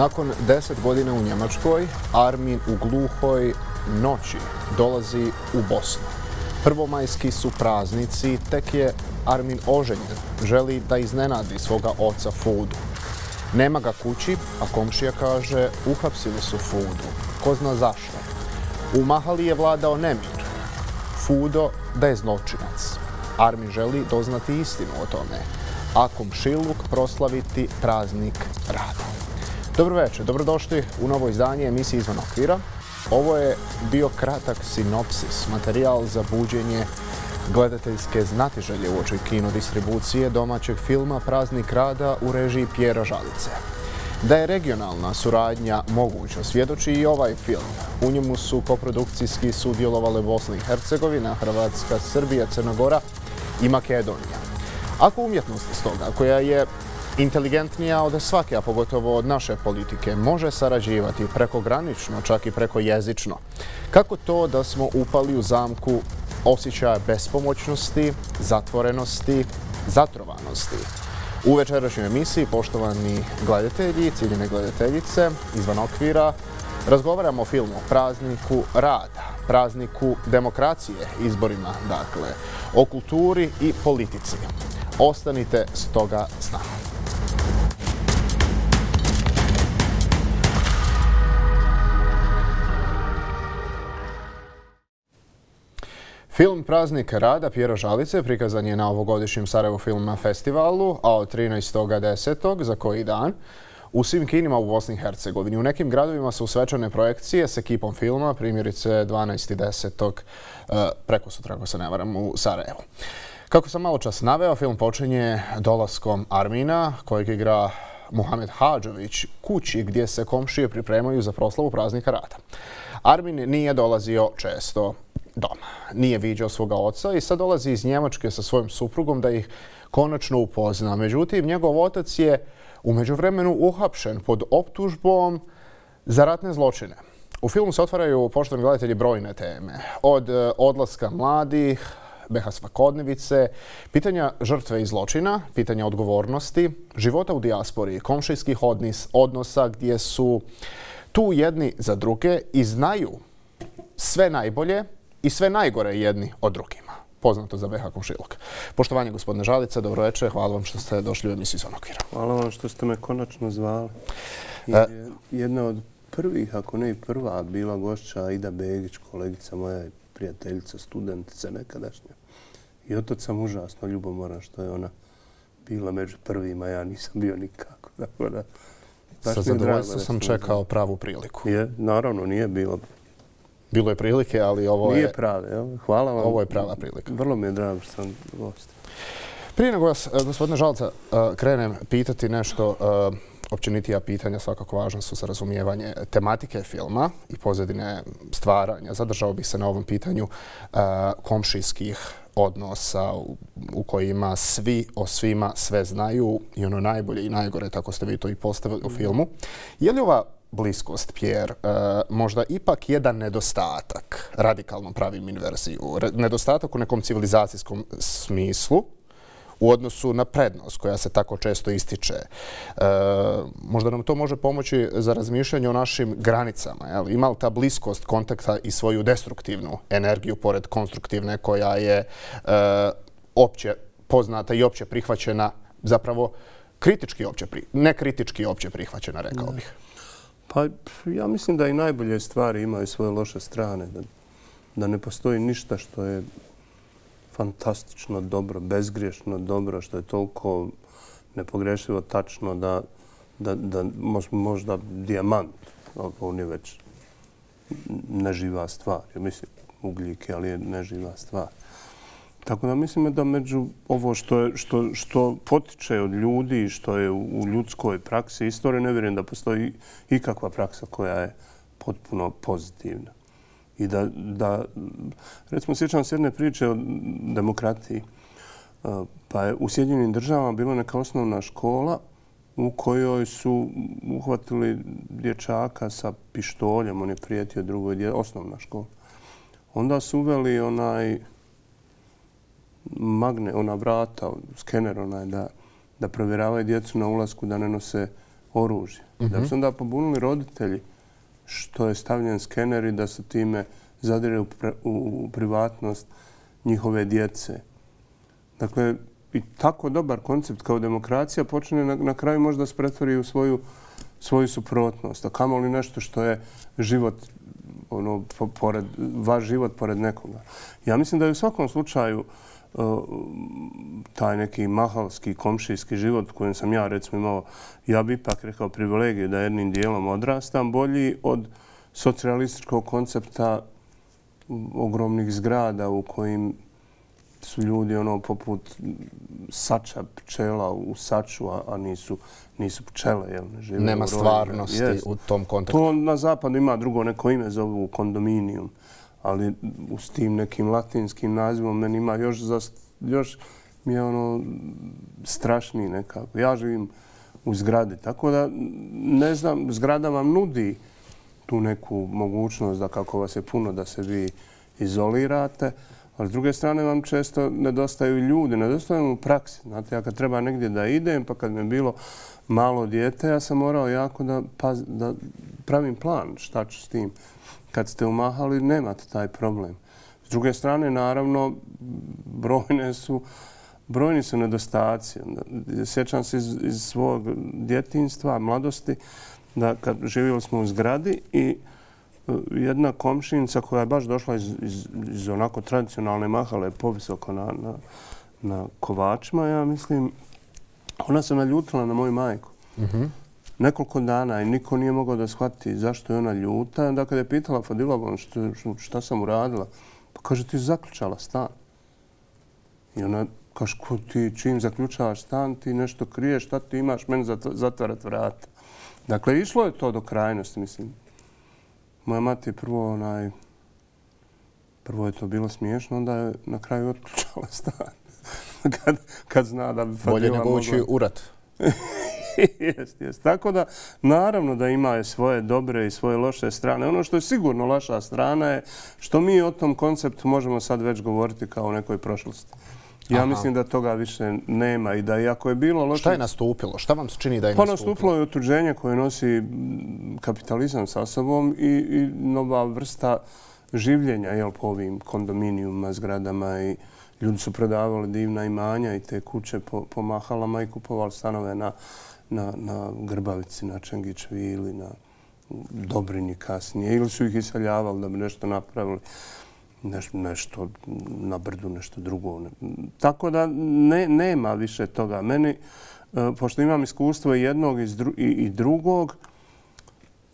Nakon 10 godina u Njemačkoj, Armin u gluhoj noći dolazi u Bosnu. Prvomajski su praznici, tek je Armin oženjen. Želi da iznenadi svoga oca Fudu. Nema ga kući, a komšija kaže uhapsili su Fudu. Ko zna zašto. U mahali je vladao nemir. Fudo da je zločinac. Armin želi doznati istinu o tome, a komšiluk proslaviti praznik rada. Dobro večer, dobrodošli u novo izdanje emisije Izvan okvira. Ovo je bio kratak sinopsis, materijal za buđenje gledateljske znatiželje uoči kino distribucije domaćeg filma Praznik rada u režiji Pjera Žalice. Da je regionalna suradnja moguća svjedoči i ovaj film. U njemu su koprodukcijski sudjelovale Bosna i Hercegovina, Hrvatska, Srbija, Crna Gora i Makedonija. Ako umjetnost stoga, koja je inteligentnija od svake, a pogotovo od naše politike, može sarađivati prekogranično, čak i prekojezično, kako to da smo upali u zamku osjećaja bespomoćnosti, zatvorenosti, zatrovanosti? U večerašnjoj emisiji, poštovani gledatelji, ciljene gledateljice, Izvan okvira, razgovaramo o filmu Prazniku rada, prazniku demokracije, izborima, dakle, o kulturi i politici. Ostanite stoga s nama. Film Praznik rada Pjera Žalice prikazan je na ovogodišnjem Sarajevo Film Festivalu, a od 13.10. za koji dan u svim kinima u Bosni i Hercegovini. U nekim gradovima su svečane projekcije s ekipom filma, primjerice 12.10. preko sutra, ako se ne varam, u Sarajevu. Kako sam malo čas naveo, film počinje dolaskom Armina, kojeg igra Muhamed Hadžović, kući gdje se komšije pripremaju za proslavu Praznika rada. Armin nije dolazio često doma, nije viđao svoga oca i sad dolazi iz Njemačke sa svojom suprugom da ih konačno upozna. Međutim, njegov otac je u međuvremenu uhapšen pod optužbom za ratne zločine. U filmu se otvaraju, poštovani gledatelji, brojne teme. Od odlaska mladih, BiH svakodnevice, pitanja žrtve i zločina, pitanja odgovornosti, života u dijaspori, komšijskih odnosa gdje su tu jedni za druge i znaju sve najbolje i sve najgore jedni od drugima. Poznato za BiH komšiluk. Poštovanje, gospodine Žalice, dobro večer. Hvala vam što ste došli u emisiju Izvan okvira. Hvala vam što ste me konačno zvali. Jedna od prvih, ako ne i prva, bila gošća Aida Begić, kolegica moja i prijateljica, studentica nekadašnja. I od tad sam užasno ljubomoran što je ona bila među prvima, ja nisam bio nikako. Sa zadovoljstvom sam čekao pravu priliku. Naravno, nije bilo. Bilo je prilike, ali ovo je... Nije prave, hvala vam. Ovo je prava prilika. Vrlo mi je drago što sam gost. Prije nego vas, gospodine Žalca, krenem pitati nešto, općenitija pitanja svakako važna su za razumijevanje tematike filma i pozadine stvaranja. Zadržao bih se na ovom pitanju komšijskih odnosa u kojima svi o svima sve znaju i ono najbolje i najgore, tako ste vi to i postavili u filmu. Je li ova bliskost, Pjer, možda ipak jedan nedostatak, radikalno pravim inverziju, nedostatak u nekom civilizacijskom smislu u odnosu na prednost koja se tako često ističe? Možda nam to može pomoći za razmišljanje o našim granicama. Ima li ta bliskost kontakta i svoju destruktivnu energiju pored konstruktivne koja je opće poznata i opće prihvaćena, zapravo kritički opće, ne kritički opće prihvaćena, rekao bih? Pa ja mislim da i najbolje stvari imaju svoje loše strane. Da ne postoji ništa što je fantastično dobro, bezgriješno dobro, što je toliko nepogrešivo tačno da možda dijamant, on je već neživa stvar. Ja mislim ugljik, ali je neživa stvar. Tako da mislim da među ovo što potiče od ljudi i što je u ljudskoj praksi istorije, ne vjerujem da postoji ikakva praksa koja je potpuno pozitivna. I da recimo, sjećam se jedne priče o demokratiji. Pa je u Sjedinjenim Državama bila neka osnovna škola u kojoj su uhvatili dječaka sa pištoljem, on je prijetio drugoj djeci, osnovna škola. Onda su uveli ona vrata, skener da provjeravaju djecu na ulasku da ne nose oružje. Da bi se onda pobunili roditelji što je stavljen skener i da se time zadire u privatnost njihove djece. Dakle, i tako dobar koncept kao demokracija počne na kraju možda se pretvori u svoju suprotnost. A kamoli nešto što je život, vaš život pored nekoga. Ja mislim da je u svakom slučaju taj neki mahalski, komšijski život kojem sam ja recimo imao, ja bi ipak rekao privilegiju da jednim dijelom odrastam, bolji od socijalističkog koncepta ogromnih zgrada u kojim su ljudi poput sača pčela u saču, a nisu pčele. Nema stvarnosti u tom kontekstu. To na zapadu ima drugo neko ime, zovu kondominijum, ali s tim nekim latinskim nazivom meni ima još mi je strašniji nekako. Ja živim u zgradi, tako da ne znam, zgrada vam nudi tu neku mogućnost da kako vas je puno da se vi izolirate, ali s druge strane vam često nedostaju ljudi, nedostaju u praksi. Znate, ja kad treba negdje da idem, pa kad mi je bilo malo dijete, ja sam morao jako da pravim plan šta ću s tim. Kad ste umahali, nemate taj problem. S druge strane, naravno, brojni su nedostaci. Sjećam se iz svog djetinjstva, mladosti, da kad živjeli smo u zgradi i jedna komšinica koja je baš došla iz onako tradicionalne mahale povisoko na kovačima, ja mislim, ona se naljutila na moju majku. Nekoliko dana i niko nije mogao da shvati zašto je ona ljuta. Onda kad je pitala Fadilovom šta sam uradila, pa kaže ti zaključala stan. I ona kaže ti čim zaključavaš stan ti nešto kriješ, šta ti imaš meni zatvarati vrata. Dakle, išlo je to do krajnosti, mislim. Moja mati je prvo je to bilo smiješno, onda je na kraju otključala stan. Kad zna da bi Fadila bolje nego ući u rat. Jest. Tako da, naravno da ima svoje dobre i svoje loše strane. Ono što je sigurno loša strana je što mi o tom konceptu možemo sad već govoriti kao o nekoj prošlosti. Ja mislim da toga više nema i da iako je bilo loše... Šta je nastupilo? Šta vam se čini da je nastupilo? Nastupilo je otuđenje koje nosi kapitalizam sa sobom i nova vrsta življenja po ovim kondominijuma, zgradama i ljudi su prodavali divna imanja i te kuće po mahalama i kupovali stanove na Grbavici, na Čengićvili, na Dobrini kasnije. Ili su ih iseljavali da bi nešto napravili, nešto na Brdu, nešto drugo. Tako da nema više toga. Meni, pošto imam iskustvo i jednog i drugog,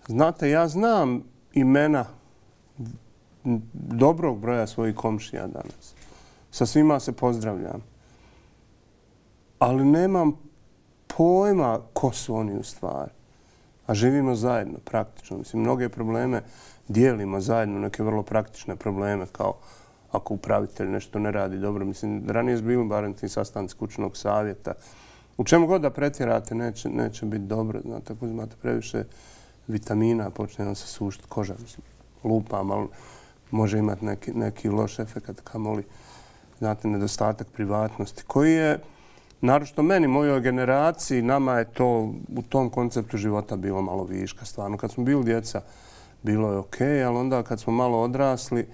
znate, ja znam imena dobrog broja svojih komšija danas. Sa svima se pozdravljam. Ali nemam pojma ko su oni u stvari. A živimo zajedno, praktično. Mislim, mnoge probleme dijelimo zajedno, neke vrlo praktične probleme, kao ako upravitelj nešto ne radi dobro. Mislim, ranije su bili barem ti sastanci kućnog savjeta. U čemu god da pretjerate, neće biti dobro. Znate, ako uzmate previše vitamina, počne vam se sušiti koža. Mislim, lupam, ali može imati neki loš efekt, kamoli, znate, nedostatak privatnosti, koji je, naročito meni, mojoj generaciji, nama je to u tom konceptu života bilo malo viška. Stvarno, kad smo bili djeca, bilo je okej, ali onda kad smo malo odrasli,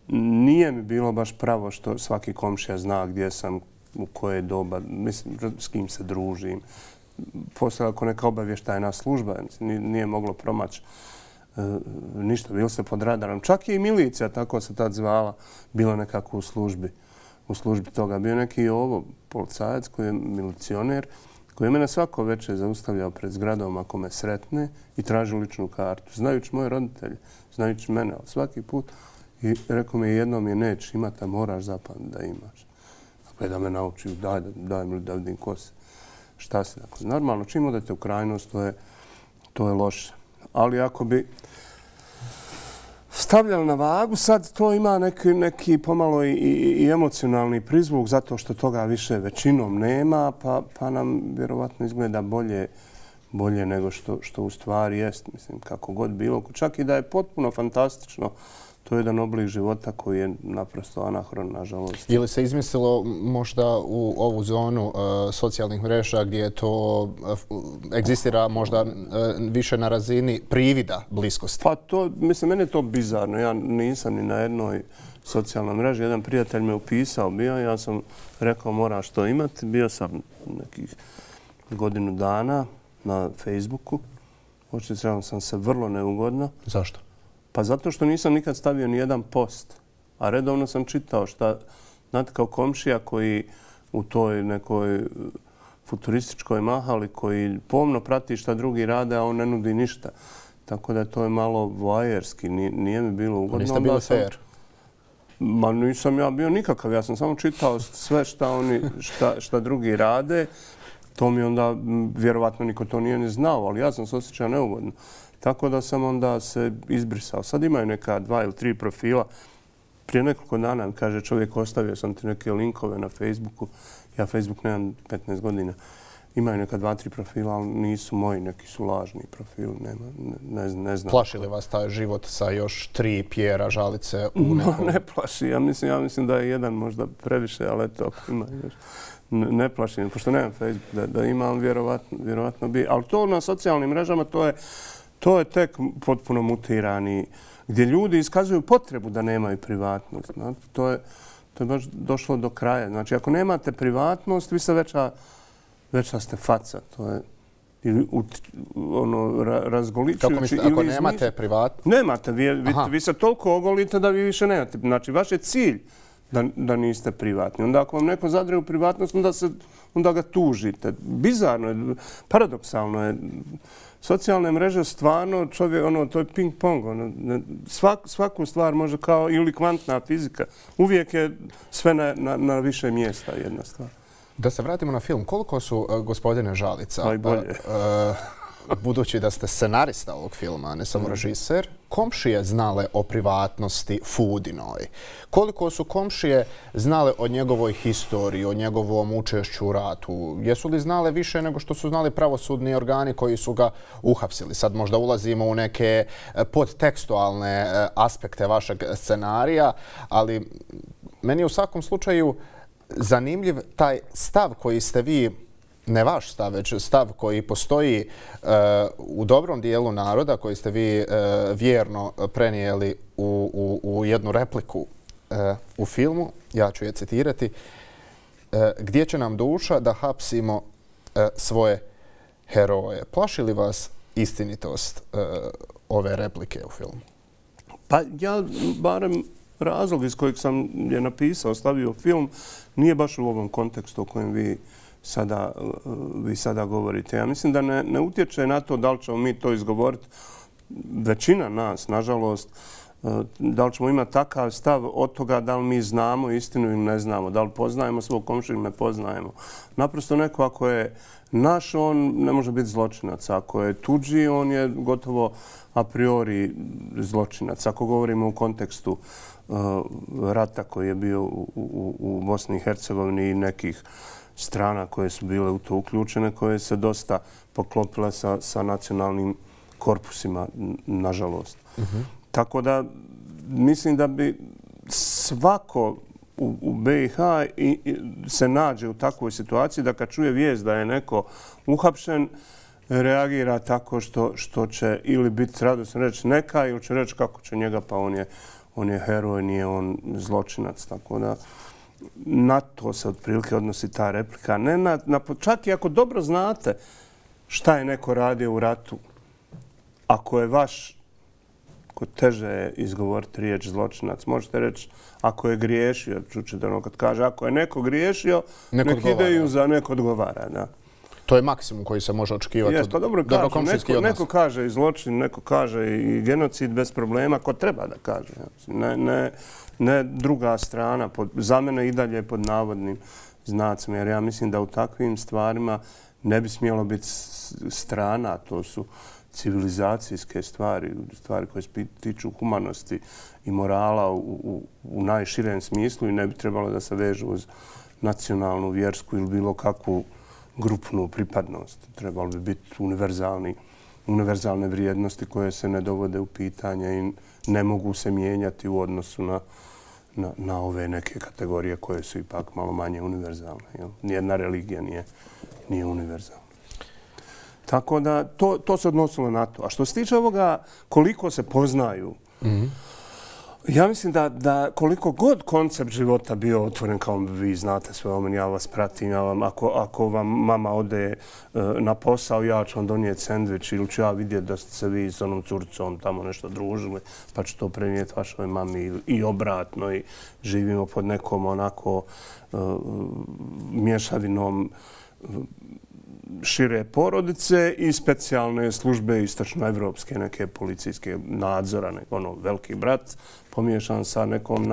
nije mi bilo baš pravo što svaki komšija zna gdje sam, u koje doba, mislim, s kim se družim. Poslije ako neka obavještajna služba, nije moglo promaći ništa, bilo se pod radarom. Čak i milicija, tako se tad zvala, bilo nekako u službi toga. Bio neki policajac koji je milicioner, koji je mene svako večer zaustavljao pred zgradom ako me sretne i traži ličnu kartu. Znajući moje roditelje, znajući mene, ali svaki put. I rekao mi jednom je neće imati, a moraš zapamtiti da imaš. Dakle, da me nauči, daj mi da vidim ko si, šta si. Dakle, normalno, čim odete u krajnost, to je loše. Ali ako bi stavljali na vagu, sad to ima neki pomalo i emocionalni prizvuk zato što toga više većinom nema, pa nam vjerovatno izgleda bolje nego što u stvari jest. Mislim, kako god bilo. Čak i da je potpuno fantastično to je jedan oblik života koji je naprosto anahron, nažalost. Ili se izmislilo možda u ovu zonu socijalnih mreža gdje to egzistira možda više na razini privida bliskosti? Pa to, mislim, meni je to bizarno. Ja nisam ni na jednoj socijalnoj mreži. Jedan prijatelj me upisao bio, ja sam rekao moraš to imati. Bio sam nekih godinu dana na Facebooku. Osjećao sam se vrlo neugodno. Zašto? Pa zato što nisam nikad stavio ni jedan post. A redovno sam čitao šta, znate, kao komšija koji u toj nekoj futurističkoj mahali koji pomno prati šta drugi rade, a on ne nudi ništa. Tako da to je malo voajerski, nije mi bilo ugodno. Niste bili fair? Ma nisam ja bio nikakav, ja sam samo čitao sve šta drugi rade. To mi onda, vjerovatno niko to nije ni znao, ali ja sam se osjećao neugodno. Tako da sam onda se izbrisao. Sad imaju neka 2 ili 3 profila. Prije nekoliko dana mi kaže čovjek, ostavio sam ti neke linkove na Facebooku. Ja Facebook nemam 15 godina. Imaju neka 2, 3 profila, ali nisu moji, neki su lažni profili. Ne znam. Plaši li vas taj život sa još 3 Pjera Žalice u nekom? Ne plaši. Ja mislim da je jedan možda previše, ali eto, ima još. Ne plašim, pošto nemam Facebook, da imam vjerovatno bi. Ali to na socijalnim mrežama, to je tek potpuno mutirani, gdje ljudi iskazuju potrebu da nemaju privatnost. To je baš došlo do kraja. Znači, ako nemate privatnost, vi ste veća ste faca. To je ili razgoličujući. Kako mislite, ako nemate privatnost? Nemate. Vi se toliko ogolite da vi više nemate. Znači, vaš je cilj da niste privatni. Onda ako vam neko zadre u privatnost, onda ga tužite. Bizarno je, paradoksalno je. Socijalne mreže stvarno, čovjek, to je ping-pong. Svaku stvar može kao ili kvantna fizika. Uvijek je sve na više mjesta jedna stvar. Da se vratimo na film. Koliko su, gospodine Žalica, najbolje, budući da ste scenarista ovog filma, a ne samo režiser, komšije znale o privatnosti Foodinoj? Koliko su komšije znale o njegovoj historiji, o njegovom učešću u ratu? Jesu li znale više nego što su znali pravosudni organi koji su ga uhapsili? Sad možda ulazimo u neke podtekstualne aspekte vašeg scenarija, ali meni je u svakom slučaju zanimljiv taj stav koji ste vi, ne vaš stav, već stav koji postoji u dobrom dijelu naroda, koji ste vi vjerno prenijeli u jednu repliku u filmu. Ja ću je citirati. Gdje će nam duša da hapsimo svoje heroje? Plaši li vas istinitost ove replike u filmu? Pa ja barem razlog iz kojeg sam je napisao, stavio film, nije baš u ovom kontekstu o kojem vi sada govorite. Ja mislim da ne utječe na to da li ćemo mi to izgovoriti. Većina nas, nažalost, da li ćemo imati takav stav od toga da li mi znamo istinu ili ne znamo, da li poznajemo svog komšiju ili ne poznajemo. Naprosto neko ako je naš, on ne može biti zločinac. Ako je tuđi, on je gotovo a priori zločinac. Ako govorimo u kontekstu rata koji je bio u Bosni i Hercegovini i nekih strana koje su bile u to uključene, koje se dosta poklopile sa nacionalnim korpusima, nažalost. Tako da mislim da bi svako u BiH se nađe u takvoj situaciji da kad čuje vijest da je neko uhapšen, reagira tako što će ili biti radosno reći neka ili će reći kako će njega, pa on je heroj, nije on zločinac. Tako da na to se otprilike odnosi ta replika. Čak i ako dobro znate šta je neko radio u ratu, ako je vaš, ko teže je izgovoriti riječ zločinac, možete reći ako je griješio, čućete ono kad kaže ako je neko griješio, nek ideju za neko odgovara. Da. To je maksimum koji se može očekivati od dobrokomšijskih odnosa. Neko kaže i zločin, neko kaže i genocid bez problema, ko treba da kaže. Ne druga strana, za mene i dalje pod navodnim znacima, jer ja mislim da u takvim stvarima ne bi smjelo biti strana, to su civilizacijske stvari, stvari koje se tiču humanosti i morala u najširem smislu i ne bi trebalo da se vežu uz nacionalnu, vjersku ili bilo kakvu grupnu pripadnost. Trebalo bi biti univerzalne vrijednosti koje se ne dovode u pitanje i ne mogu se mijenjati u odnosu na ove neke kategorije koje su ipak malo manje univerzalne. Nijedna religija nije univerzalna. Tako da to se odnosilo na to. A što se tiče ovoga koliko se poznaju, ja mislim da koliko god koncept života bio otvoren, kao vi znate sve o meni, ja vas pratim, ako vam mama ode na posao, ja ću vam donijeti sendvič ili ću ja vidjeti da ste se vi s onom curcom tamo nešto družili, pa ću to prenijeti vašoj mami i obratno i živimo pod nekom onako mješavinom šire porodice i specijalne službe istočnoevropske, neke policijske nadzora, veliki brat, pomiješan sa nekom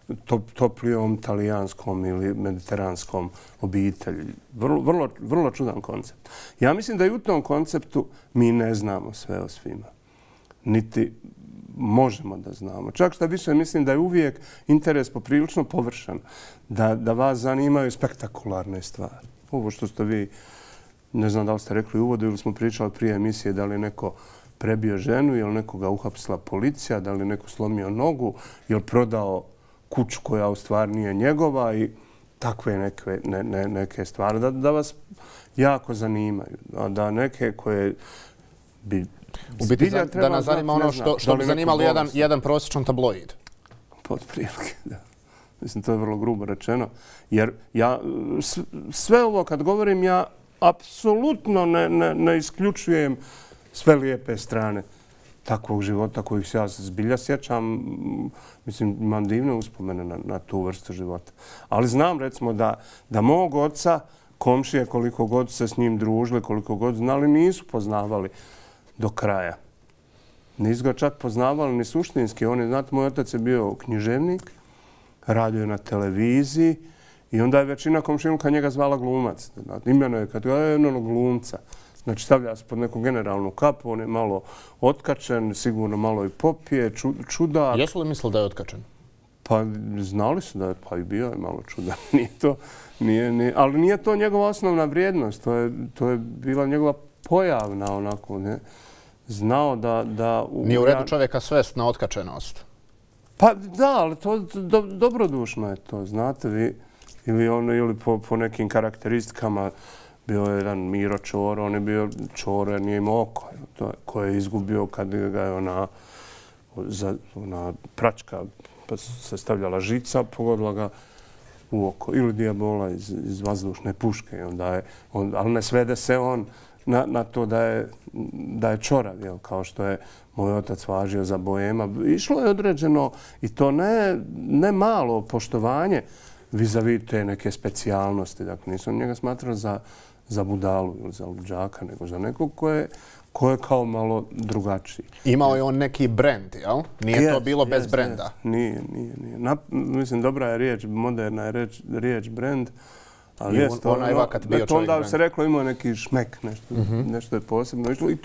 najtoplijom talijanskom ili mediteranskom obitelji. Vrlo čudan koncept. Ja mislim da i u tom konceptu mi ne znamo sve o svima. Niti možemo da znamo. Čak što više mislim da je uvijek interes poprilično površan, da vas zanimaju spektakularne stvari. Ovo što ste vi, ne znam da li ste rekli u uvodu ili smo pričali prije emisije, da li neko prebio ženu, ili nekoga uhapsila policija, da li neko slomio nogu, ili prodao kuću koja u stvari nije njegova i takve neke stvari. Da vas jako zanimaju. Da neke koje bi... U biti da nas zanima ono što bi zanimalo jedan prosječan tabloid. Pod prilike, da. Mislim, to je vrlo grubo rečeno. Jer ja sve ovo kad govorim, ja apsolutno ne isključujem sve lijepe strane takvog života kojih se ja zbilja sjećam. Mislim, imam divne uspomene na tu vrstu života. Ali znam, recimo, da mog oca, komšije, koliko god se s njim družili, koliko god znali, nisu poznavali do kraja. Nisu ga čak poznavali ni suštinski. Znate, moj otac je bio književnik, radio je na televiziji i onda je većina komšiluka njega zvala glumac. Imeno je kategorija glumca. Znači, stavlja se pod neku generalnu kapu, on je malo otkačen, sigurno malo i popije, čudak. Jesu li mislili da je otkačen? Pa znali su da je, pa i bio je malo čudan. Ali nije to njegova osnovna vrijednost. To je bila njegova pojavna onako, ne. Znao da... Nije u redu čovjeka svest na otkačenost. Pa da, ali to dobrodušno je to, znate vi. Ili po nekim karakteristikama bio je jedan Miro Čoro, on je bio Čoro jer nije imao oko. Koje je izgubio kad ga je ona pračka, pa se stavljala žica, pogodila ga u oko. Ili Dijabola iz vazdušne puške. Ali ne svede se on na to da je čorav, kao što je moj otac važio za boema. Išlo je određeno i to ne malo poštovanje vis-a-vis te neke specijalnosti. Dakle, nisam njega smatrao za budalu ili za luđaka, nego za nekog ko je kao malo drugačiji. Imao je on neki brend, jel? Nije to bilo bez brenda? Nije. Mislim, dobra je riječ, moderna je riječ brend. Ali onaj vakat bio čovjek. Onda se reklo imao neki šmek, nešto je posebno išlo. I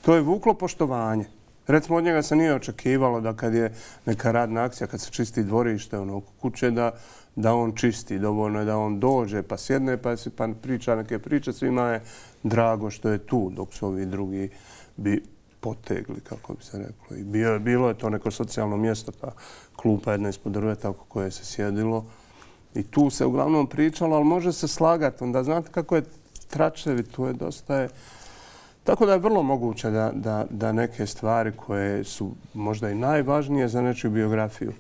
to je vuklo poštovanje. Recimo, od njega se nije očekivalo da kad je neka radna akcija, kad se čisti dvorište oko kuće, da on čisti. Dovoljno je da on dođe pa sjedne pa priča neke priče. Svima je drago što je tu, dok su ovi drugi bi potegli, kako bi se reklo. I bilo je to neko socijalno mjesto, ta klupa jedna ispod drveta oko koje se sjedilo. I tu se uglavnom pričalo, ali može se slagati. Onda znate kako je tračevi, tu je dosta. Tako da je vrlo moguće da neke stvari koje su možda i najvažnije za nečiju biografiju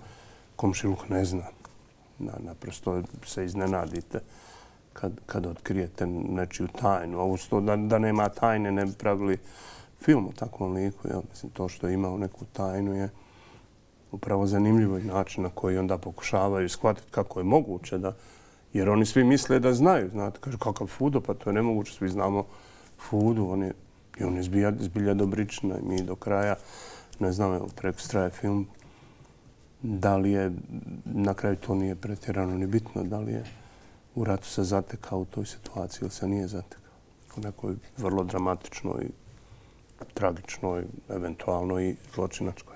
komšiluk ne zna. Naprosto se iznenadite kad otkrijete nečiju tajnu. Ovo što da nema tajne ne bi pravili film o takvom liku. Mislim, to što je imao neku tajnu je upravo zanimljivo i način na koji onda pokušavaju shvatiti kako je moguće da... Jer oni svi misle da znaju. Znate, kaže, kakav Fudo, pa to je nemoguće. Svi znamo Fudu. On je zbilja dobrična i mi do kraja, ne znam, Prekostraje film, da li je, na kraju to nije pretjerano ni bitno, da li je u ratu se zatekao u toj situaciji ili se nije zatekao. U nekoj vrlo dramatičnoj, tragičnoj, eventualno i zločinačkoj.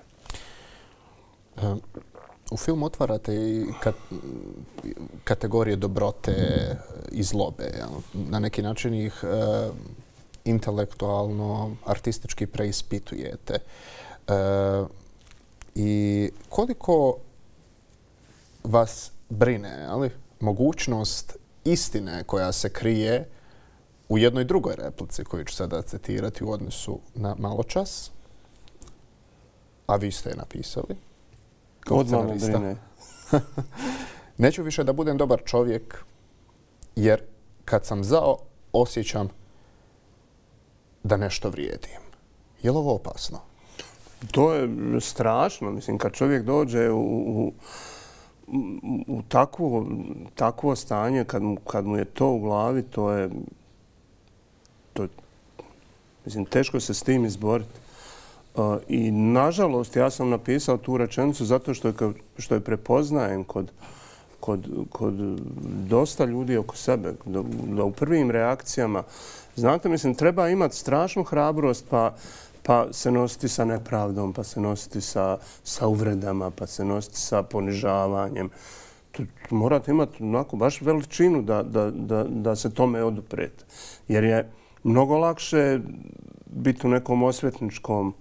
U filmu otvarate i kategorije dobrote i zlobe. Na neki način ih intelektualno, artistički preispitujete. I koliko vas brine, ali, mogućnost istine koja se krije u jednoj drugoj replici koju ću sada citirati u odnosu na maločas, a vi ste je napisali. Odmah me brine. Neću više da budem dobar čovjek, jer kad sam zao, osjećam da nešto vrijedim. Je li ovo opasno? To je strašno. Mislim, kad čovjek dođe u takvo stanje, kad mu je to u glavi, to je mislim, teško se s tim izboriti. I nažalost, ja sam napisao tu rečenicu zato što je prepoznajem kod dosta ljudi oko sebe, da u prvim reakcijama, znate, mislim, treba imati strašnu hrabrost pa se nositi sa nepravdom, pa se nositi sa uvredama, pa se nositi sa ponižavanjem. Morate imati onako baš veličinu da se tome oduprete. Jer je mnogo lakše biti u nekom osvetničkom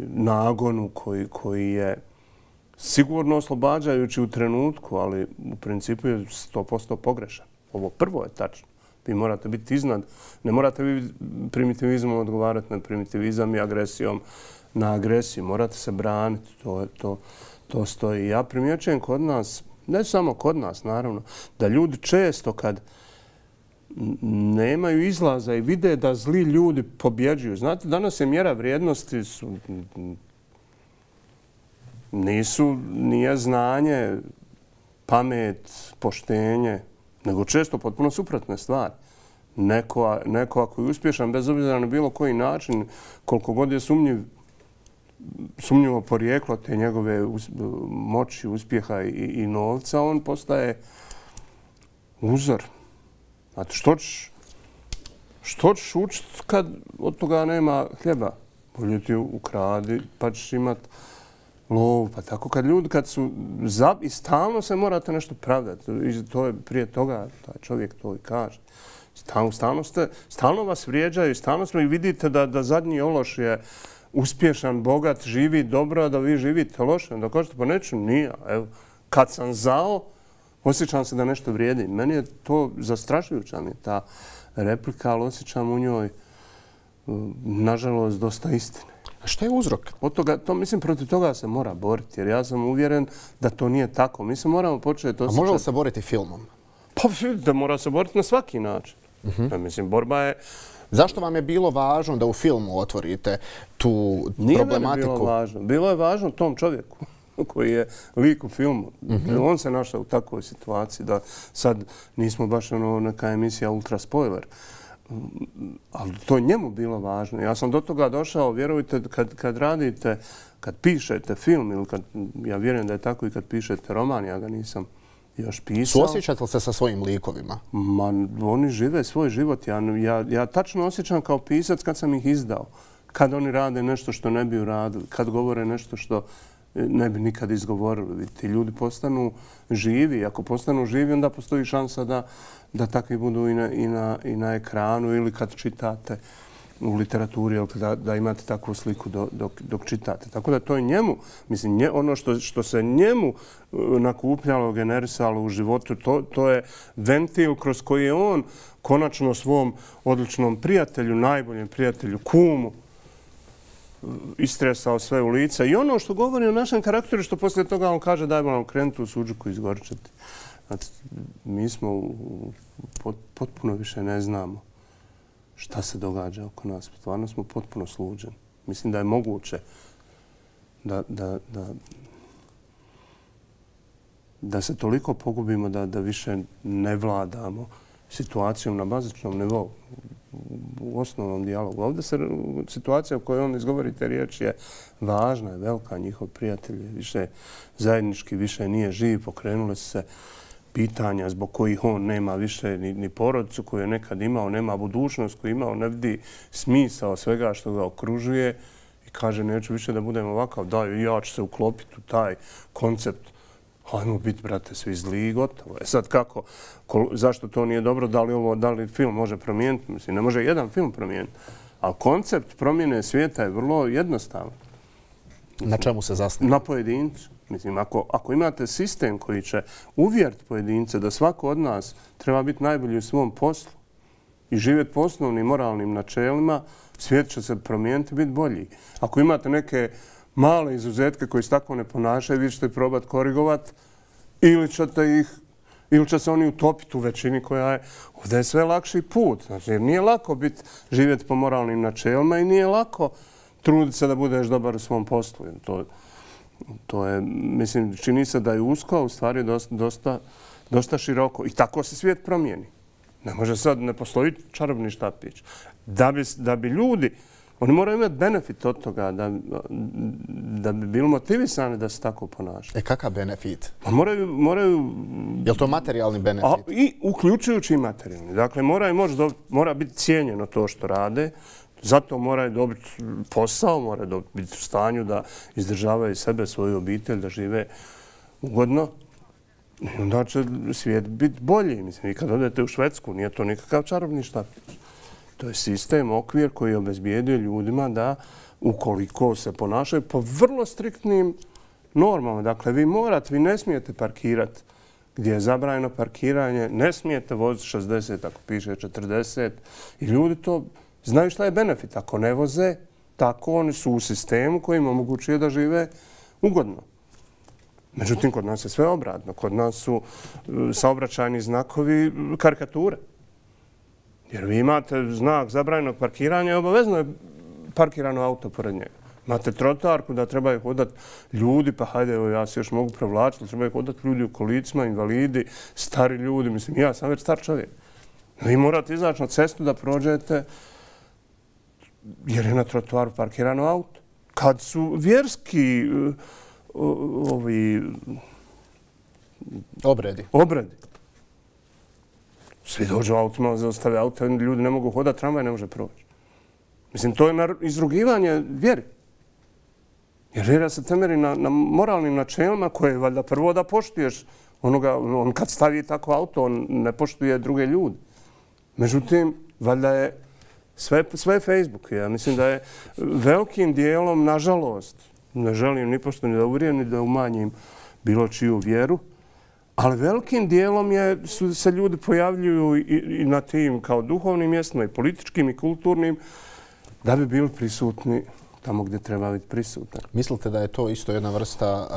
nagonu koji je sigurno oslobađajući u trenutku, ali u principu je 100% pogrešan. Ovo prvo je tačno. Vi morate biti iznad. Ne morate vi primitivizmom odgovarati na primitivizam i agresijom na agresiju. Morate se braniti. To stoji. Ja primjećujem kod nas, ne samo kod nas, naravno, da ljudi često kad nemaju izlaza i vide da zli ljudi pobjeđuju. Znate, danas je mjera vrijednosti nije znanje, pamet, poštenje, nego često potpuno suprotne stvari. Neko ako je uspješan, bez obzira na bilo koji način, koliko god je sumnjivo porijeklo te njegove moći, uspjeha i novca, on postaje uzor. Znate, što ćeš učiti kad od toga nema hljeba? Bolje ti ukradi, pa ćeš imat lovu. Pa tako kad su i stalno se morate nešto pravdati. To je prije toga, taj čovjek to i kaže. Stalno vas vrijeđaju, stalno i vidite da zadnji ološ je uspješan, bogat, živi dobro, a da vi živite loše. Da kažete, pa neću, nije. Evo, kad sam zao, osjećam se da nešto vrijedi. Meni je to zastrašujuća mi je ta replika, ali osjećam u njoj, nažalost, dosta istine. A šta je uzrok? Mislim, protiv toga se mora boriti, jer ja sam uvjeren da to nije tako. Mi se moramo početi osjećati... A može li se boriti filmom? Pa da mora se boriti na svaki način. Mislim, borba je... Zašto vam je bilo važno da u filmu otvorite tu problematiku? Nije meni bilo važno. Bilo je važno tom čovjeku koji je lik u filmu. On se našao u takvoj situaciji da sad nismo baš neka emisija ultra spoiler. Ali to je njemu bilo važno. Ja sam do toga došao, vjerujte, kad radite, kad pišete film, ili ja vjerujem da je tako i kad pišete roman, ja ga nisam još pisao. Suosjećate li se sa svojim likovima? Oni žive svoj život. Ja tačno osjećam kao pisac kad sam ih izdao. Kad oni rade nešto što ne bi uradili, kad govore nešto što ne bi nikad izgovorili. Ti ljudi postanu živi. Ako postanu živi, onda postoji šansa da takvi budu i na ekranu ili kad čitate u literaturi, da imate takvu sliku dok čitate. Tako da to je njemu, mislim, ono što se njemu nakupljalo, generisalo u životu, to je ventil kroz koji je on konačno svom odličnom prijatelju, najboljem prijatelju, kumu, istresao sve u lice. I ono što govori o našem karakteru, što poslije toga on kaže dajmo nam krenuti u suđuku i izgorčati. Znači, mi smo potpuno više ne znamo šta se događa oko nas. Stvarno smo potpuno sluđeni. Mislim da je moguće da se toliko pogubimo da više ne vladamo situacijom na bazičnom nivou, u osnovnom dijalogu. Ovdje situacija u kojoj on izgovori te riječi je važna, je velika. Njihov prijatelj više zajednički, više nije živ. Pokrenule su se pitanja zbog kojih on nema više ni porodicu koju je nekad imao, nema budućnost koju je imao, ne vidi smisao svega što ga okružuje i kaže neću više da budem ovakav, da ja ću se uklopiti u taj koncept Hajmo biti, brate, svi zli i gotovo. Sad kako, zašto to nije dobro, da li film može promijeniti? Mislim, ne može jedan film promijeniti. Ali koncept promjene svijeta je vrlo jednostavan. Na čemu se zasniva? Na pojedincu. Mislim, ako imate sistem koji će uvjeriti pojedince da svako od nas treba biti najbolji u svom poslu i živjeti po osnovnim moralnim načelima, svijet će se promijeniti i biti bolji. Ako imate neke male izuzetke koji se tako ne ponašaju, vi ćete probati korigovati ili će se oni utopiti u većini koja je... Ovdje je sve lakši put. Znači, jer nije lako živjeti po moralnim načelima i nije lako truditi se da budeš dobar u svom poslu. To je, mislim, čini se da je usko, a u stvari dosta široko. I tako se svijet promijeni. Ne može sad, ne postoji čarobni štapić. Da bi ljudi, oni moraju imati benefit od toga, da bi bili motivisani da se tako ponašaju. Kakav benefit? Moraju... Je li to materijalni benefit? I uključujući i materijalni. Dakle, mora biti cijenjeno to što rade, zato moraju dobiti posao, moraju biti u stanju da izdržavaju sebe, svoju obitelj, da žive ugodno. I onda će svijet biti bolji. Mislim, i kad odete u Švedsku, nije to nikakav čarobni štapić. To je sistem, okvir koji obezbijedio ljudima da, ukoliko se ponašaju po vrlo striktnim normama. Dakle, vi ne smijete parkirati gdje je zabranjeno parkiranje, ne smijete voziti 60 ako piše 40 i ljudi to znaju šta je benefit. Ako ne voze, tako oni su u sistemu koji im omogućuje da žive ugodno. Međutim, kod nas je sve obratno. Kod nas su saobraćajni znakovi karikature. Jer vi imate znak zabranjenog parkiranja i obavezno je parkirano auto pored njega. Imate trotoarku da trebaju hodati ljudi, pa hajde, evo ja se još mogu provlačiti, trebaju hodati ljudi u kolicima, invalidi, stari ljudi. Mislim, ja sam već star čovjek. Vi morate izaći na cestu da prođete jer je na trotoaru parkirano auto. Kad su vjerski obredi. Svi dođu autima, zaostave auto, ljudi ne mogu hodati, tramvaj ne može proći. Mislim, to je izrugivanje vjeri. Jer vjera se temelji na moralnim načelima koje je valjda prvo da poštuješ on kad stavi tako auto, on ne poštuje druge ljude. Međutim, valjda je sve Facebook. Ja mislim da je velikim dijelom, nažalost, ne želim ni pošto ni da uvrijem, ni da umanjim bilo čiju vjeru, ali velikim dijelom se ljudi pojavljuju i na tim kao duhovnim mjestima, i političkim, i kulturnim, da bi bili prisutni tamo gdje treba biti prisutan. Mislite da je to isto jedna vrsta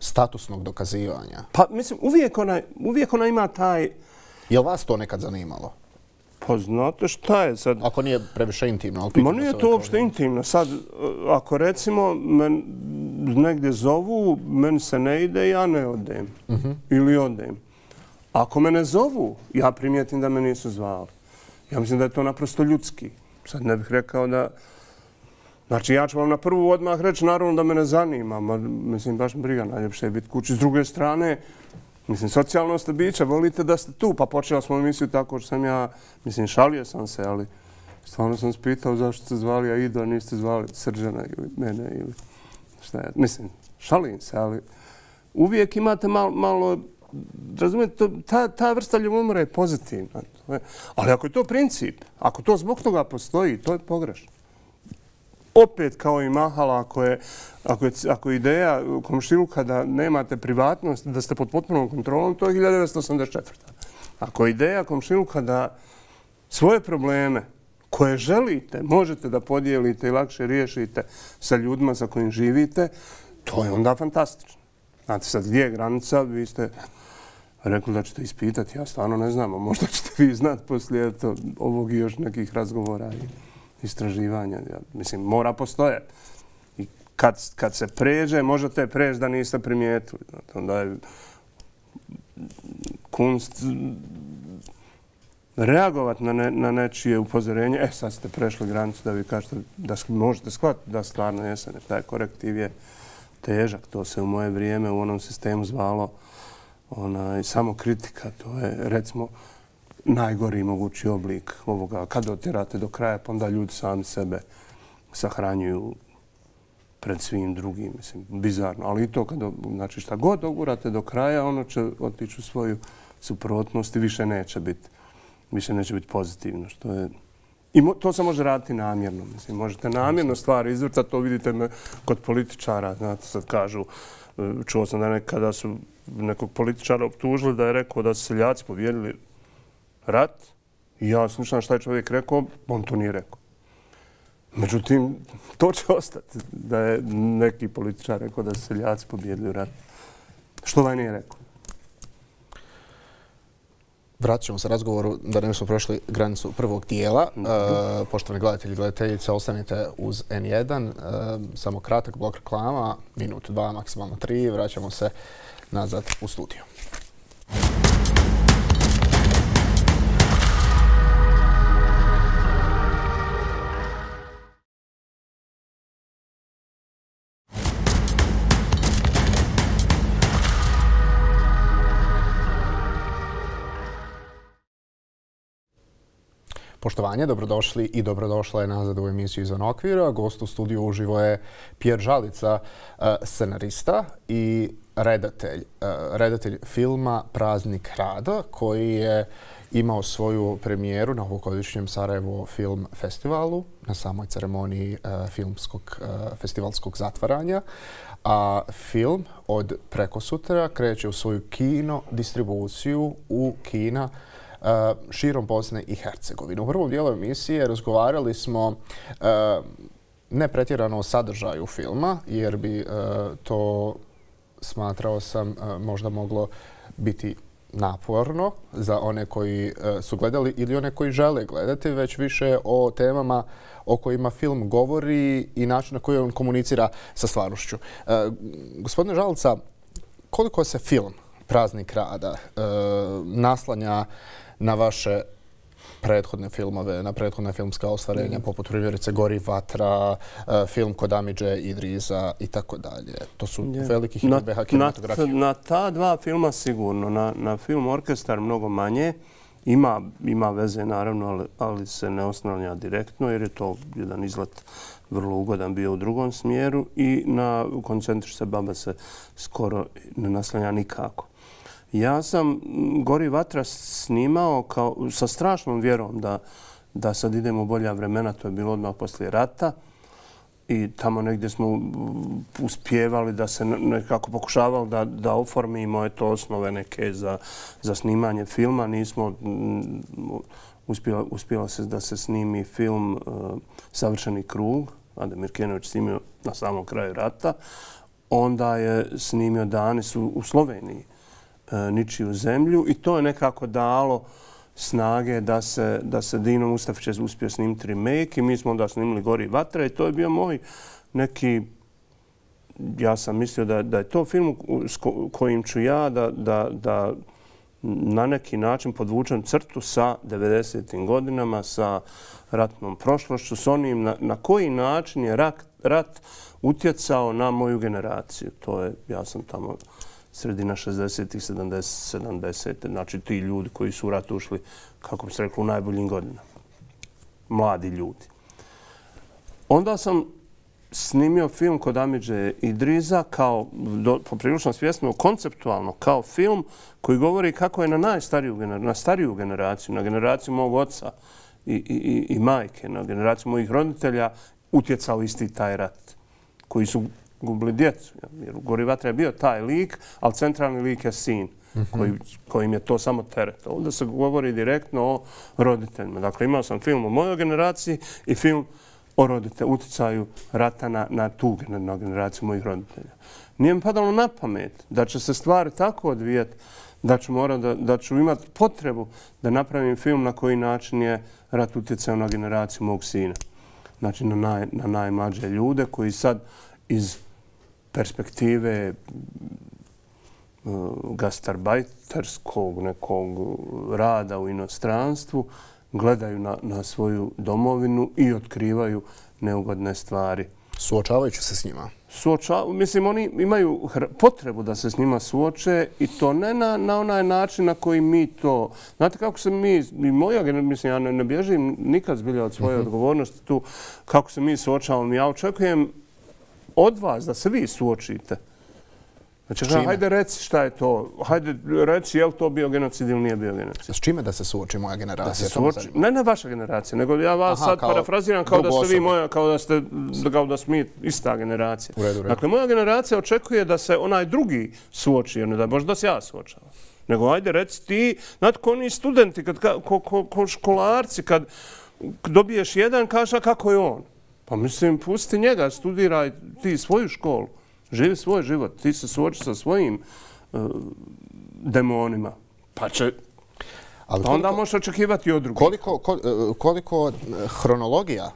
statusnog dokazivanja? Pa, mislim, uvijek ona ima taj... Je li vas to nekad zanimalo? Pa znate šta je sad... Ako nije previše intimno. Ma nije to uopšte intimno. Sad, ako recimo negdje zovu, meni se ne ide, ja ne odem. Ili odem. Ako me ne zovu, ja primijetim da me nisu zvali. Ja mislim da je to naprosto ljudski. Sad ne bih rekao da... Znači, ja ću vam na prvu odmah reći, naravno da me ne zanima. Mislim, baš briga, najljepše je biti kući. S druge strane, mislim, socijalno ste bića, volite da ste tu. Pa počela smo emisiju tako što sam ja, mislim, šalio sam se, ali stvarno sam spitao zašto ste zvali Aidu, a niste zvali Srđana ili mene ili šta je. Mislim, šalim se, ali uvijek imate malo, razumijete, ta vrsta ljubomore je pozitivna. Ali ako je to princip, ako to zbog toga postoji, to je pogrešno. Opet kao i Mahala, ako je ideja komšiluka da nemate privatnost, da ste pod potpunom kontrolom, to je 1984. Ako je ideja komšiluka da svoje probleme koje želite, možete da podijelite i lakše riješite sa ljudima sa kojim živite, to je onda fantastično. Znate sad gdje je granica, vi ste rekli da ćete ispitati, ja stvarno ne znam, a možda ćete vi znati poslije ovog i još nekih razgovora i istraživanja. Mislim, mora postojati. I kad se pređe, možete preći da niste primijetili. Onda je kunst reagovati na nečije upozorenje. Sad ste prešli granicu da vi kažete da možete shvatiti da stvarno jesam. Taj korektiv je težak. To se u moje vrijeme u onom sistemu zvalo samo kritika. To je, recimo, najgori mogući oblik ovoga. Kad otjerate do kraja, pa onda ljudi sami sebe sahranjuju pred svim drugim. Mislim, bizarno. Ali i to kada, znači šta god dogurate do kraja, ono će otići u svoju suprotnost i više neće biti pozitivno. Što je... I to se može raditi namjerno. Mislim, možete namjerno stvari izvrtati, to vidite kod političara. Znate, sad kažu, čuo sam da nekada su nekog političara optužili da je rekao da su seljaci pobijedili rat. I ja slušam šta je čovjek rekao, on to nije rekao. Međutim, to će ostati da je neki političar rekao da su seljaci pobijedili rat. Što ovaj nije rekao? Vratit ćemo se razgovoru da ne smo prošli granicu prvog dijela. Poštovani gledatelji i gledateljice, ostanite uz N1. Samo kratak blok reklama, minut, 2, maksimalno 3. Vraćamo se nazad u studiju. Poštovanje, dobrodošli i dobrodošla je nazad u emisiju Izvan okvira. Gost u studiju uživo je Pjer Žalica, scenarista i redatelj filma Praznik rada, koji je imao svoju premijeru na ovogodišnjem Sarajevo Film Festivalu, na samoj ceremoniji festivalskog zatvaranja. A film od prekosutra kreće u svoju kino distribuciju u kina širom Bosne i Hercegovine. U prvom dijelu emisije razgovarali smo ne pretjerano o sadržaju filma, jer bi to, smatrao sam, možda moglo biti naporno za one koji su gledali ili one koji žele gledati, već više o temama o kojima film govori i način na koji on komunicira sa stvarnošću. Gospodine Žalica, koliko se film Praznik rada naslanja na vaše prethodne filmove, na prethodne filmska ostvarenja, poput primjerice Gori vatra, film kod Amidže Idriza i tako dalje. To su veliki hitbeha kinematografije. Na ta dva filma sigurno. Na film Orkestar mnogo manje. Ima veze, naravno, ali se ne oslanja direktno, jer je to jedan izlet vrlo ugodan bio u drugom smjeru i na Koncentriš se baba se skoro ne naslanja nikako. Ja sam Gori vatra snimao sa strašnom vjerom da sad idemo u bolja vremena. To je bilo odmah poslije rata i tamo negdje smo uspjevali da se nekako pokušavali da oformimo osnove neke za snimanje filma. Nismo uspjelo se da se snimi film Savršeni krug. Ademir Kenović snimio na samom kraju rata. Onda je snimio Dani su u Sloveniji. Ničiju zemlju i to je nekako dalo snage da se Dino Mustafić je uspio snimiti remake i mi smo onda snimili Gori vatra i to je bio moj neki, ja sam mislio da je to film s kojim ću ja da na neki način podvučem crtu sa 90. godinama, sa ratnom prošlošću, s onim na koji način je rat utjecao na moju generaciju. To je, ja sam tamo sredina 60-ih, 70. Znači ti ljudi koji su u rat ušli, kako bi se reklo, u najboljim godinama. Mladi ljudi. Onda sam snimio film kod Amidže Idriza kao, poprilično svjesno, konceptualno, kao film koji govori kako je na stariju generaciju, na generaciju mog oca i majke, na generaciju mojih roditelja utjecao isti taj rat koji su gubili djecu. Jer u Gori vatra je bio taj lik, ali centralni lik je sin kojim je to samo teret. Ovdje se govori direktno o roditeljima. Dakle, imao sam film o mojoj generaciji i film o utjecaju rata na tu generaciju mojih roditelja. Nije mi padalo na pamet da će se stvari tako odvijeti da ću imati potrebu da napravim film na koji način je rat utjecao na generaciju mog sina. Znači na najmlađe ljude koji sad iz perspektive gastarbajterskog nekog rada u inostranstvu gledaju na svoju domovinu i otkrivaju neugodne stvari. Suočavajući se s njima? Mislim, oni imaju potrebu da se s njima suoče i to ne na onaj način na koji mi to... Znate kako se mi, mislim, ja ne bježim nikad zbilja od svoje odgovornosti tu, kako se mi suočavamo. Ja očekujem od vas da se vi suočite. Znači, hajde reci šta je to, hajde reci je li to bio genocid ili nije bio genocid. S čime da se suoči moja generacija? Da se suoči, ne vaša generacija, nego ja vas sad parafraziram kao da ste vi moja, kao da smo mi ista generacija. Dakle, moja generacija očekuje da se onaj drugi suoči, ne da možda se ja suočavam. Nego hajde reci ti, znate ko oni studenti, ko školarci, kad dobiješ jedan, kažeš kako je on. Pa mislim, pusti njega, studiraj ti svoju školu. Živi svoj život, ti se suoči sa svojim demonima, pa onda možeš očekivati od drugih. Koliko hronologija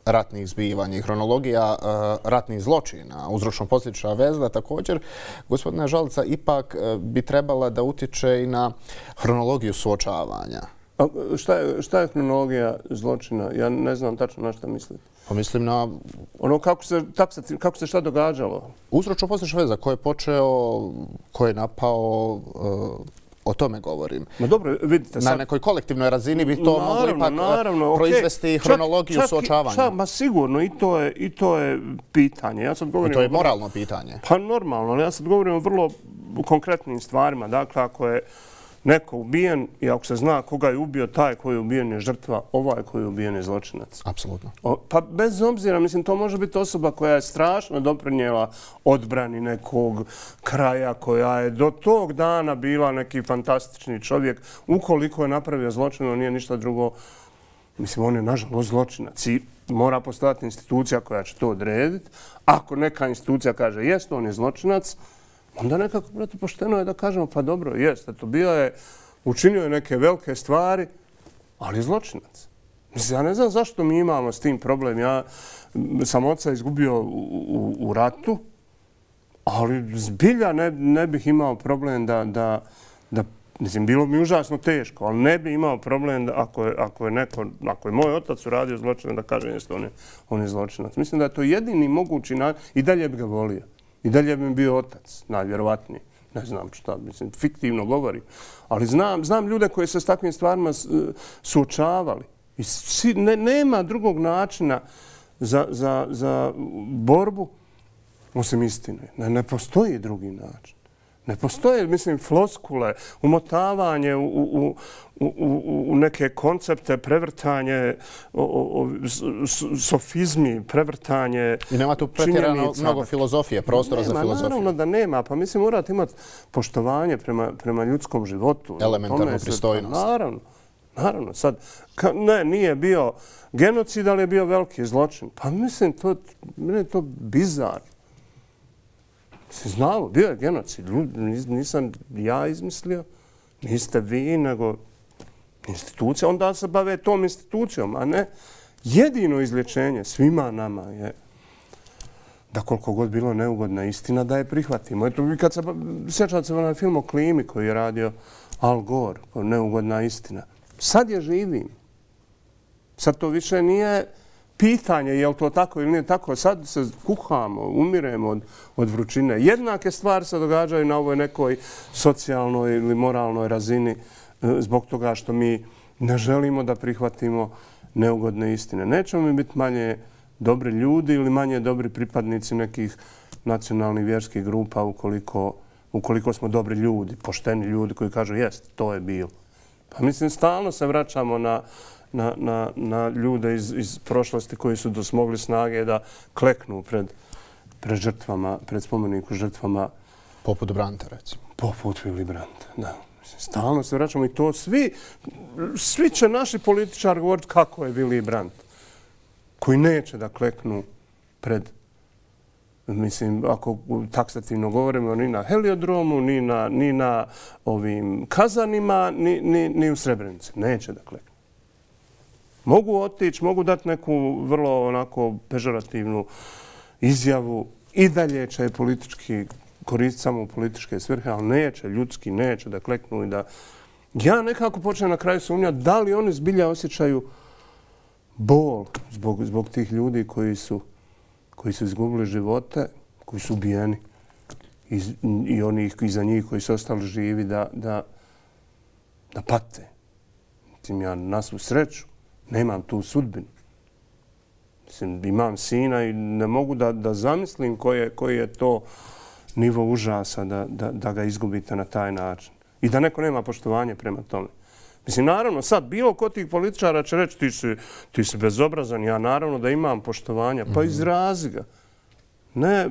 ratnih zbivanja i hronologija ratnih zločina, uzročno-posljedična veza također, gospodina Žalica, ipak bi trebala da utječe i na hronologiju suočavanja. Šta je hronologija zločina? Ja ne znam tačno na šta mislite. Pa mislim na... Ono kako se šta događalo? Uzročno-posljedična veza, ko je počeo, ko je napao, o tome govorim. Ma dobro, vidite sad... Na nekoj kolektivnoj razini bi to moglo ipak proizvesti hronologiju suočavanja. Ma sigurno, i to je pitanje. Ja sad govorim... I to je moralno pitanje. Pa normalno, ali ja sad govorim o vrlo konkretnim stvarima. Dakle, ako je neko ubijen i ako se zna koga je ubio, taj koji je ubijen je žrtva, ovaj koji je ubijen je zločinac. Apsolutno. Pa bez obzira, mislim, to može biti osoba koja je strašno doprinijela odbrani nekog kraja, koja je do tog dana bila neki fantastični čovjek. Ukoliko je napravio zločin, on nije ništa drugo. Mislim, on je nažalost zločinac i mora postojati institucija koja će to odrediti. Ako neka institucija kaže jest, on je zločinac, onda nekako, brate, pošteno je da kažemo, pa dobro, jeste, to bio je, učinio je neke velike stvari, ali zločinac. Mislim, ja ne znam zašto mi imamo s tim problem. Ja sam oca izgubio u ratu, ali zbilja ne bih imao problem da mislim, bilo mi užasno teško, ali ne bih imao problem da ako je moj otac uradio zločinac, da kažem, jeste, on je zločinac. Mislim da je to jedini mogući način i dalje bi ga volio. I dalje bi mi bio otac, najvjerovatniji. Ne znam šta, mislim, fiktivno govorim. Ali znam ljude koji se s takvim stvarima suočavali. I nema drugog načina za borbu osim istine. Ne postoji drugi način. Ne postoje, mislim, floskule, umotavanje u neke koncepte, prevrtanje, sofizmi, prevrtanje činjenica. I nema tu pretjerano mnogo filozofije, prostora za filozofiju. Naravno da nema. Pa mislim, morate imati poštovanje prema ljudskom životu. Elementarnu pristojnost. Naravno. Sad, nije bio genocid, ali je bio veliki zločin. Pa mislim, meni je to bizarno. Znamo, bio je genocid. Nisam ja izmislio, niste vi, nego institucija. Onda se bave tom institucijom, a ne jedino izlječenje svima nama je da koliko god bilo neugodna istina, da je prihvatimo. Eto, kad se sjećate se onaj film o klimi koji je radio Al Gore, neugodna istina. Sad je živim. Sad to više nije pitanje je li to tako ili nije tako. Sad se kuhamo, umiremo od vrućine. Jednake stvari se događaju na ovoj nekoj socijalnoj ili moralnoj razini zbog toga što mi ne želimo da prihvatimo neugodne istine. Nećemo mi biti manje dobri ljudi ili manje dobri pripadnici nekih nacionalnih vjerskih grupa ukoliko smo dobri ljudi, pošteni ljudi koji kažu jest, to je bilo. Pa mislim, stalno se vraćamo na ljude iz prošlosti koji su dosmogli snage da kleknu pred žrtvama, pred spomeniku žrtvama. Poput Branta, recimo. Poput Willy Brandta, da. Stalno se vraćamo i to svi će naši političari govoriti kako je Willy Brandt, koji neće da kleknu pred, mislim, ako taksativno govorimo, ni na heliodromu, ni na ovim kazanima, ni u Srebrenici. Neće da kleknu. Mogu otići, mogu dati neku vrlo onako pežorativnu izjavu. I dalje će politički koristiti samo u političke svrhe, ali neće, ljudski neće da kleknu i da... Ja nekako počnem na kraju sumnjati da li oni zbilja osjećaju bol zbog tih ljudi koji su izgubili živote, koji su ubijeni i onih iza njih koji su ostali živi da pate. Mislim, ja na svu sreću nemam tu sudbinu Mislim, imam sina i ne mogu da zamislim koji je to nivo užasa da ga izgubite na taj način. I da neko nema poštovanje prema tome. Mislim, naravno, sad bilo ko tih političara će reći ti si bezobrazan, ja naravno da imam poštovanja, pa izrazi ga. Ne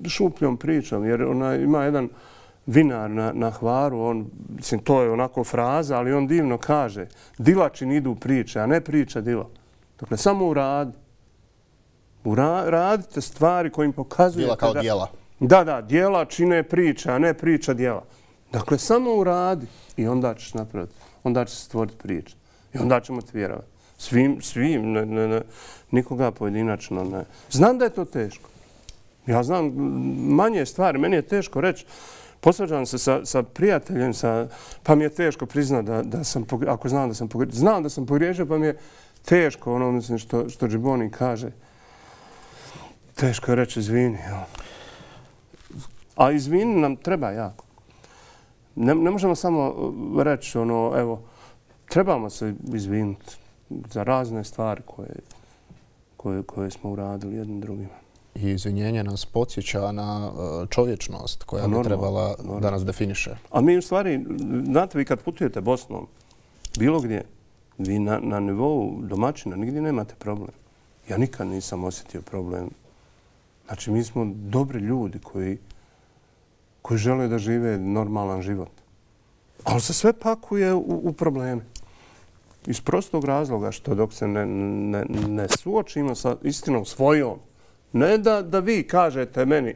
šupljom pričam, jer ima jedan vinar na Hvaru, mislim, to je onako fraza, ali on divno kaže, dila čini idu priče, a ne priča dila. Dakle, samo uradi. Uradite stvari kojim pokazujete... Djela kao djela. Da, djela čine priče, a ne priča djela. Dakle, samo uradi i onda ćeš napraviti. Onda će se stvoriti priča. I onda ćemo ti vjerovati. Svim, nikoga pojedinačno ne. Znam da je to teško. Ja znam manje stvari. Meni je teško reći. Posvađam se sa prijateljem, pa mi je teško priznati da sam, ako znam da sam pogriješio. Znam da sam pogriješio, pa mi je teško, ono mislim što Džiboni kaže. Teško je reći izvini. A izvini nam treba jako. Ne možemo samo reći, evo, trebamo se izvinuti za razne stvari koje smo uradili jednim drugima. I izvinjenje nas podsjeća na čovječnost koja bi trebala da nas definiše. A mi u stvari, znate, vi kad putujete Bosnom, bilo gdje, vi na nivou domaćina nigdje nemate problem. Ja nikad nisam osjetio problem. Znači, mi smo dobri ljudi koji žele da žive normalan život. Ali se sve pakuje u probleme. Iz prostog razloga što dok se ne suočimo sa istinom svojom, ne da vi kažete meni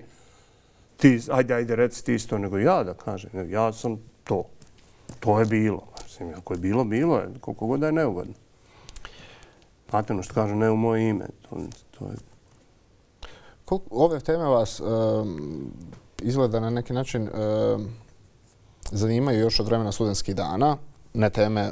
ti, ajde, reci ti isto, nego ja da kažem. Ja sam to. To je bilo. Mislim, ako je bilo, bilo je. Koliko god da je neugodno. Znate što kažu, ne u moje ime. To je... Ove teme vas izgleda na neki način zanimaju još od vremena studentskih dana. Ne teme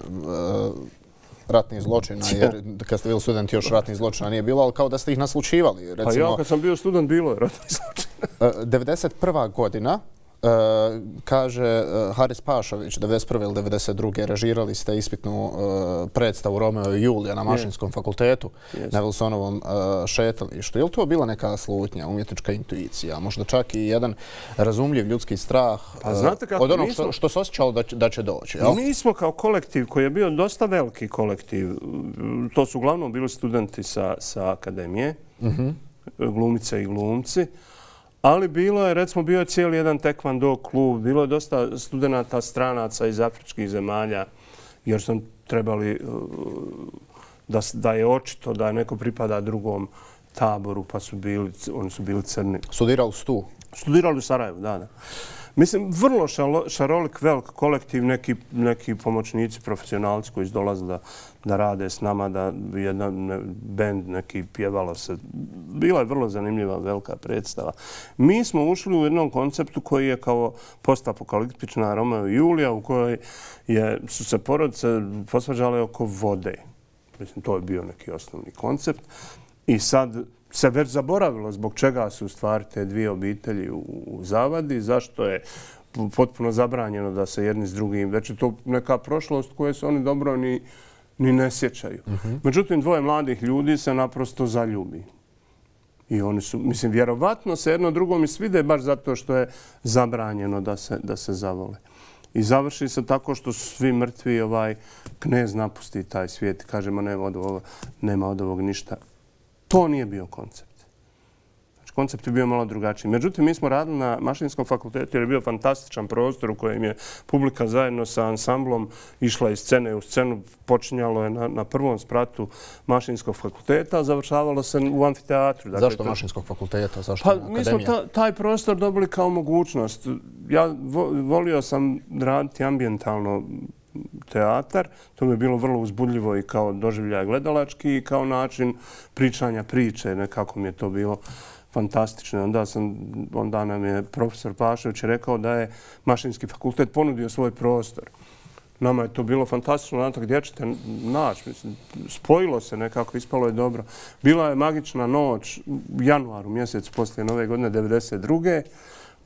ratnih zločina, jer kad ste bili studenti još ratnih zločina nije bilo, ali kao da ste ih naslučivali. A ja kad sam bio student bilo je ratnih zločina. 1991. godina, kaže Haris Pašović, 1991. ili 1992. režirali ste ispitnu predstavu Romeo i Julija na Mašinskom fakultetu na Wilsonovom šetalištu. Je li to bila neka slutnja, umjetnička intuicija, možda čak i jedan razumljiv ljudski strah od onog što se osjećalo da će doći? Mi smo kao kolektiv koji je bio dosta veliki kolektiv, to su uglavnom bili studenti sa akademije, glumice i glumci, ali bilo je, recimo, bio je cijeli jedan tekvando klub, bilo je dosta studenata stranaca iz afričkih zemalja, jer su trebali da je očito da neko pripada drugom taboru, pa oni su bili crni. Studirali su tu? Studirali u Sarajevu, da. Mislim, vrlo šarolik, velik kolektiv, neki pomoćnici, profesionalci koji dolaze da rade s nama, da jedan bend neki pjevalo se. Bila je vrlo zanimljiva, velika predstava. Mi smo ušli u jednom konceptu koji je kao postapokaliptična Romeo i Julija, u kojoj su se porodice posvađale oko vode. Mislim, to je bio neki osnovni koncept. I sad se već zaboravilo zbog čega su u stvari te dvije obitelji u zavadi, zašto je potpuno zabranjeno da se jedni s drugim, već je to neka prošlost koje se oni dobro ni ne sjećaju. Međutim, dvoje mladih ljudi se naprosto zaljubi. I oni su, mislim, vjerovatno se jedno drugom i svide baš zato što je zabranjeno da se zavole. I završi se tako što su svi mrtvi, knez napusti taj svijet i kažemo nema od ovog ništa. To nije bio koncept. Znači, koncept je bio malo drugačiji. Međutim, mi smo radili na Mašinskom fakultetu jer je bio fantastičan prostor u kojem je publika zajedno sa ansamblom išla iz scene u scenu. Počinjalo je na prvom spratu Mašinskog fakulteta, a završavalo se u amfiteatru. Zašto Mašinskog fakulteta? Zašto akademija? Mi smo taj prostor dobili kao mogućnost. Ja volio sam raditi ambijentalno teatar. To mi je bilo vrlo uzbudljivo i kao doživljaj gledalački i kao način pričanja priče. Nekako mi je to bilo fantastično. Onda nam je profesor Pašović rekao da je Mašinski fakultet ponudio svoj prostor. Nama je to bilo fantastično. Natak, gdje ćete naći? Spojilo se nekako, ispalo je dobro. Bila je magična noć u januaru mjesecu poslije Nove godine 1992.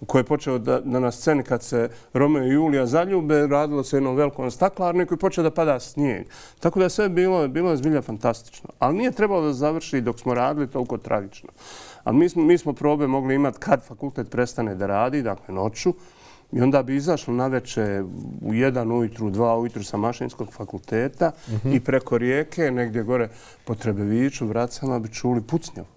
koji je počeo da na sceni kad se Romeo i Julija zaljube, radilo se jednom velikom staklarniku i počeo da pada snijeg. Tako da sve bilo je zbilja fantastično. Ali nije trebalo da završi dok smo radili toliko tragično. Ali mi smo probe mogli imati kad fakultet prestane da radi, dakle noću, i onda bi izašlo naveče u 1 ujutru, 2 ujutru sa Mašinskog fakulteta i preko rijeke, negdje gore po Trebeviću, Vracama, bi čuli pucnjavu.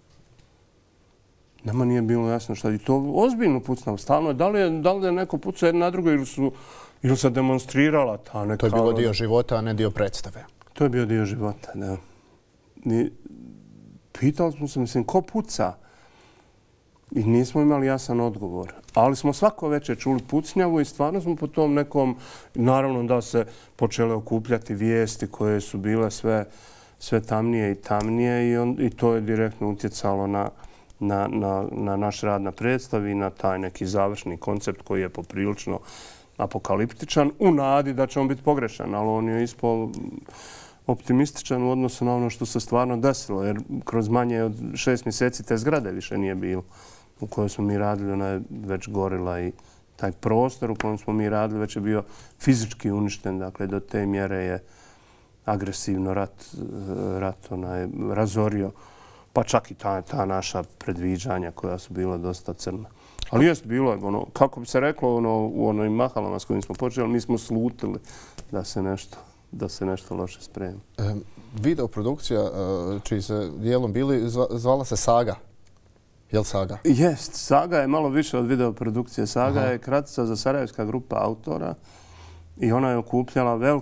Nama nije bilo jasno šta. I to ozbiljno pucnjavu. Stalno. Da li je neko pucao jedno na drugo ili se demonstrirala ta neka... To je bilo dio života, a ne dio predstave. To je bio dio života, da. Pitali smo se, mislim, ko puca? I nismo imali jasan odgovor. Ali smo svako večer čuli pucnjavu i stvarno smo po tom nekom... Naravno da se počele okupljati vijesti koje su bile sve tamnije i tamnije i to je direktno utjecalo na naš rad na predstavi i na taj neki završni koncept koji je poprilično apokaliptičan u nadi da će on biti pogrešan, ali on je ispao optimističan u odnosu na ono što se stvarno desilo, jer kroz manje od 6 mjeseci te zgrade više nije bilo u kojoj smo mi radili, ona je već gorila i taj prostor u kojem smo mi radili već je bio fizički uništen, dakle do te mjere je agresivno rat razorio, pa čak i ta naša predviđanja koja su bila dosta crna. Ali jest bilo je, kako bi se reklo u onim mahalama s kojim smo počeli, mi smo slutili da se nešto loše spremi. Videoprodukcija, čiji se dijelom bili, zvala se Saga. Je li Saga? Jest. Saga je malo više od videoprodukcije. Saga je kratica za sarajevska grupa autora i ona je okupljala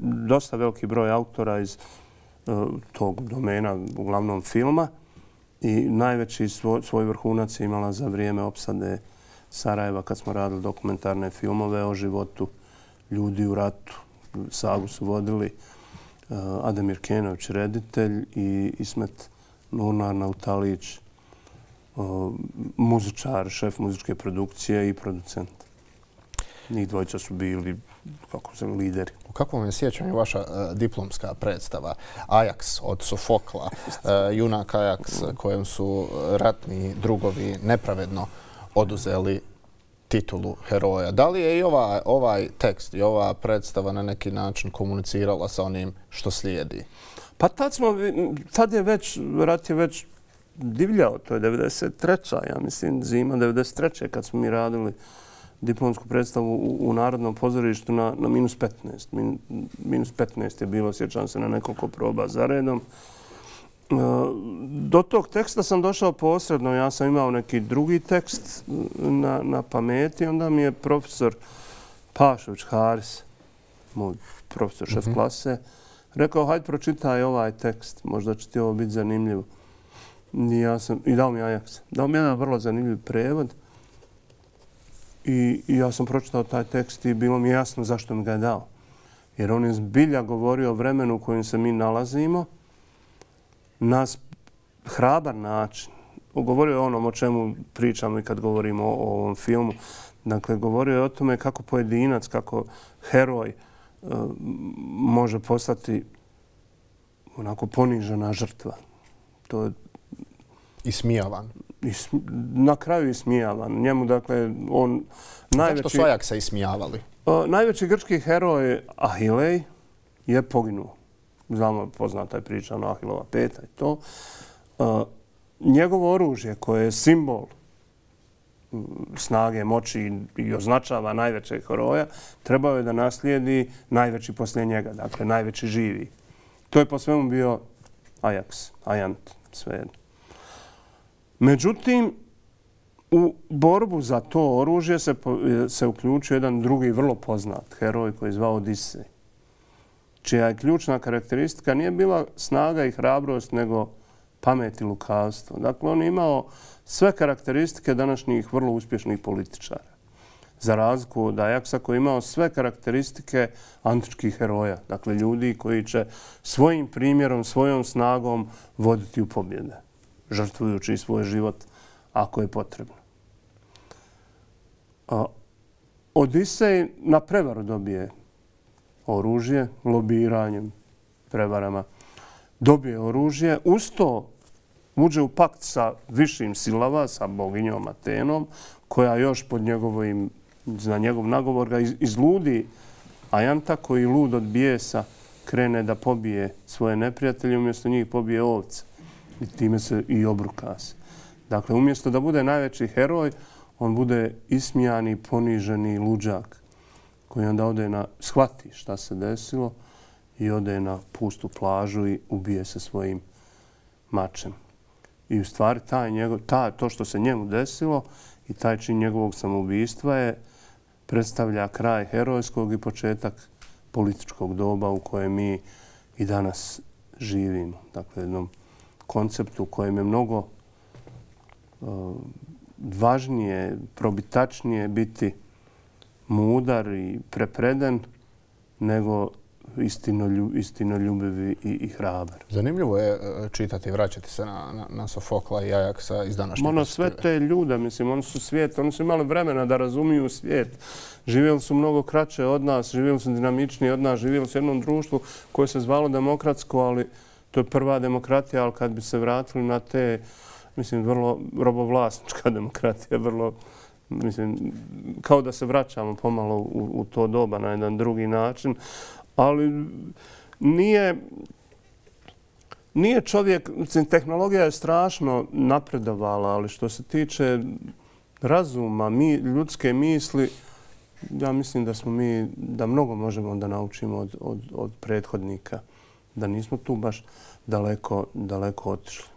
dosta veliki broj autora iz tog domena, uglavnom filma. I najveći svoj vrhunac je imala za vrijeme opsade Sarajeva kad smo radili dokumentarne filmove o životu ljudi u ratu. Sagu su vodili Ademir Kenović, reditelj, i Ismet Nurnar Nautalić, muzičar, šef muzičke produkcije i producent. Njih dvojica su bili lideri. U kakvom je sjećanju vaša diplomska predstava Ajax od Sofokla, junak Ajax kojem su ratni drugovi nepravedno oduzeli titulu heroja? Da li je i ovaj tekst i ova predstava na neki način komunicirala sa onim što slijedi? Pa tad je rat je već divljao. To je 93. ja mislim, zima 93. kad smo mi radili diplomsku predstavu u Narodnom pozorištu na -15. -15 je bilo, sjećam se, na nekoliko proba za redom. Do tog teksta sam došao posredno. Ja sam imao neki drugi tekst na pameti. Onda mi je profesor Pašović Haris, moj profesor šef klase, rekao, hajde pročitaj ovaj tekst. Možda će ti ovo biti zanimljivo. I dao mi Ajax. Dao mi jedan vrlo zanimljiv prevod. I ja sam pročitao taj tekst i bilo mi jasno zašto mi ga je dao. Jer on je zbilja govorio o vremenu u kojem se mi nalazimo na hrabar način. Govorio je onom o čemu pričamo i kad govorimo o ovom filmu. Dakle, govorio je o tome kako pojedinac, kako heroj može postati onako ponižena žrtva. To je ismijavan. Na kraju ismijavan. Njemu, dakle, on najveći... Zašto su Ajaksa ismijavali? Najveći grčki heroj Ahilej je poginuo. Znamo, poznata je priča o Ahilova peta i to. Njegovo oružje koje je simbol snage, moći i označava najvećeg heroja, trebao je da naslijedi najveći poslije njega, dakle najveći živi. To je po svemu bio Ajax, Ajant, svejedno. Međutim, u borbu za to oružje se uključio jedan drugi vrlo poznat heroj koji je zvao Odisej, čija je ključna karakteristika nije bila snaga i hrabrost, nego pamet i lukavstvo. Dakle, on je imao sve karakteristike današnjih vrlo uspješnih političara. Za razliku od Ajaksa koji je imao sve karakteristike antičkih heroja. Dakle, ljudi koji će svojim primjerom, svojom snagom voditi u pobjede, žrtvujući svoj život ako je potrebno. Odisej na prevaru dobije oružje, lobiranjem, prevarama. Dobije oružje. Uz to uđe u pakt sa višim silama, sa boginjom Atenom, koja još pod za njegov nagovor ga izludi Ajanta, koji lud od bijesa krene da pobije svoje neprijatelje, umjesto njih pobije ovce. I time se i obruka se. Dakle, umjesto da bude najveći heroj, on bude ismijani, poniženi luđak, koji onda shvati šta se desilo i ode na pustu plažu i ubije se svojim mačem. I u stvari to što se njemu desilo i taj čin njegovog samoubistva predstavlja kraj herojskog i početak političkog doba u kojem mi i danas živimo. Dakle, jednom konceptu u kojem je mnogo važnije, probitačnije biti mudar i prepreden nego istinoljubiv i hrabar. Zanimljivo je čitati i vraćati se na Sofokla i Ajaksa iz današnje perspektive. Sve te ljude, mislim, oni su svijet, oni su imali vremena da razumiju svijet. Živjeli su mnogo kraće od nas, živjeli su dinamičniji od nas, živjeli su u jednom društvu koje se zvalo demokratsko, ali to je prva demokratija, ali kad bi se vratili na te, mislim, vrlo robovlasnička demokratija, vrlo, mislim, kao da se vraćamo pomalo u to doba na jedan drugi način, ali nije čovjek, mislim, tehnologija je strašno napredovala, ali što se tiče razuma, ljudske misli, ja mislim da mnogo možemo da naučimo od prethodnika, da nismo tu baš daleko otišli.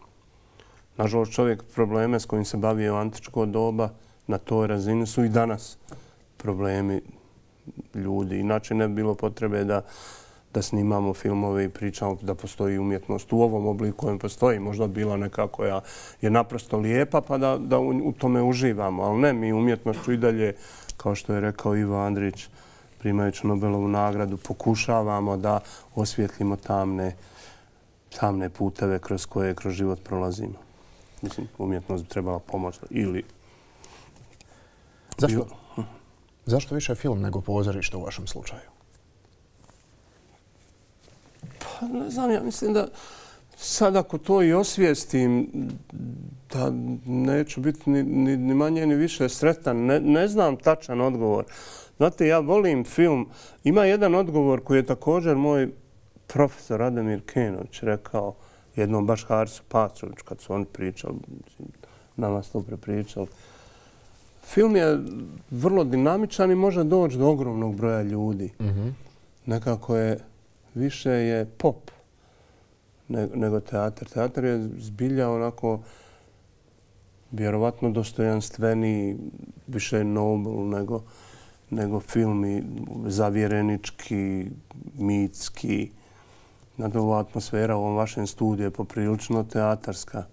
Nažalost, čovjek probleme s kojim se bavio antičko doba na toj razini su i danas problemi ljudi. Inače ne bi bilo potrebe da snimamo filmove i pričamo da postoji umjetnost u ovom obliku kojem postoji. Možda bila neka koja je naprosto lijepa pa da u tome uživamo. Ali ne, mi umjetnošću i dalje, kao što je rekao Ivo Andrić, primajući Nobelovu nagradu, pokušavamo da osvijetlimo tamne puteve kroz život prolazimo. Mislim, umjetnost bi trebala pomoći. Zašto više film nego pozorište u vašem slučaju? Pa ne znam, ja mislim da sad ako to i osvijestim, da neću biti ni manje ni više sretan. Ne znam tačan odgovor. Znate, ja volim film. Ima jedan odgovor koji je također moj profesor Radimir Kenović rekao jednom baš Harisu Patroviću kad su oni pričali, nama su to prepričali. Film je vrlo dinamičan i može doći do ogromnog broja ljudi. Nekako više je pop nego teatar. Teatar je zbilja onako vjerovatno dostojanstveniji, više noble nego film i zavjerenički, mitski. Ova atmosfera u ovom vašem studiju je poprilično teatarska.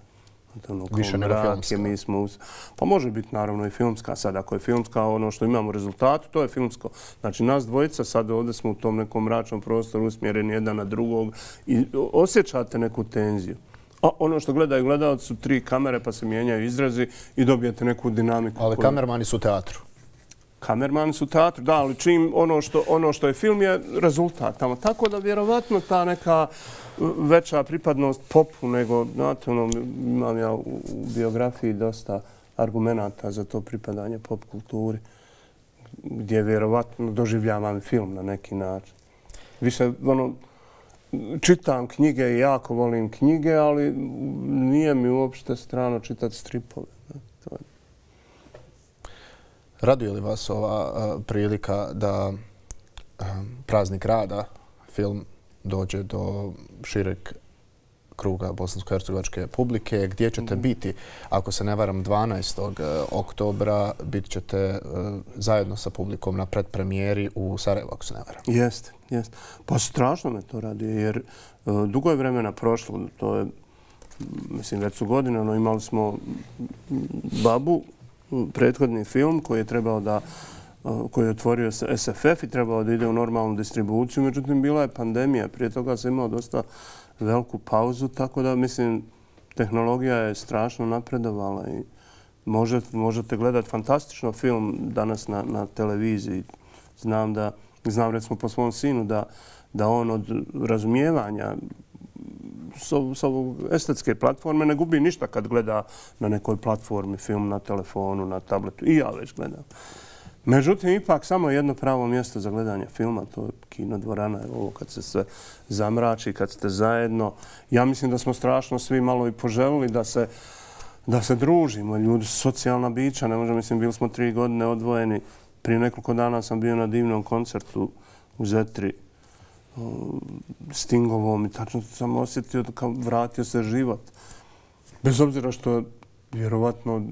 Više nego filmska. Pa može biti naravno i filmska. Sad ako je filmska, ono što imamo rezultatu, to je filmsko. Znači nas dvojica sad ovdje smo u tom nekom mračnom prostoru usmjereni jedan na drugog i osjećate neku tenziju. A ono što gledaju gledalci su 3 kamere pa se mijenjaju izrazi i dobijete neku dinamiku. Ali kamermani su u teatru. Kamermani su u teatru, da, ali čim ono što je film je rezultat tamo. Tako da vjerovatno ta neka veća pripadnost popu nego, znate, imam ja u biografiji dosta argumenata za to pripadanje pop kulturi, gdje vjerovatno doživljavam film na neki način. Više, čitam knjige i jako volim knjige, ali nije mi uopšte strano čitati stripove. Raduje li vas ova prilika da Praznik rada, film, dođe do šireg kruga bosansko-hercegovačke publike? Gdje ćete biti? Ako se ne varam, 12. oktobra bit ćete zajedno sa publikom na predpremijeri u Sarajevu, ako se ne varam. Jeste. Pa strašno me to radi, jer dugo je vremena prošlo. To je, mislim, već su godine. Imali smo Babu, prethodni film koji je otvorio SFF i trebao da ide u normalnu distribuciju. Međutim, bila je pandemija. Prije toga sam imao dosta veliku pauzu, tako da, mislim, tehnologija je strašno napredovala i možete gledati fantastično film danas na televiziji. Znam recimo po svom sinu da on od razumijevanja s ovog estetske platforme ne gubi ništa kad gleda na nekoj platformi film, na telefonu, na tabletu. I ja već gledam. Međutim, ipak samo jedno pravo mjesto za gledanje filma, to je kinodvorana, ovo kad se sve zamrači, kad ste zajedno. Ja mislim da smo strašno svi malo i poželili da se družimo. Ljudi su socijalna bića, ne možemo, mislim, bili smo 3 godine odvojeni. Prije nekoliko dana sam bio na divnom koncertu u Zetri, Stingovom, i tačno sam osjetio da kao vratio se život. Bez obzira što vjerovatno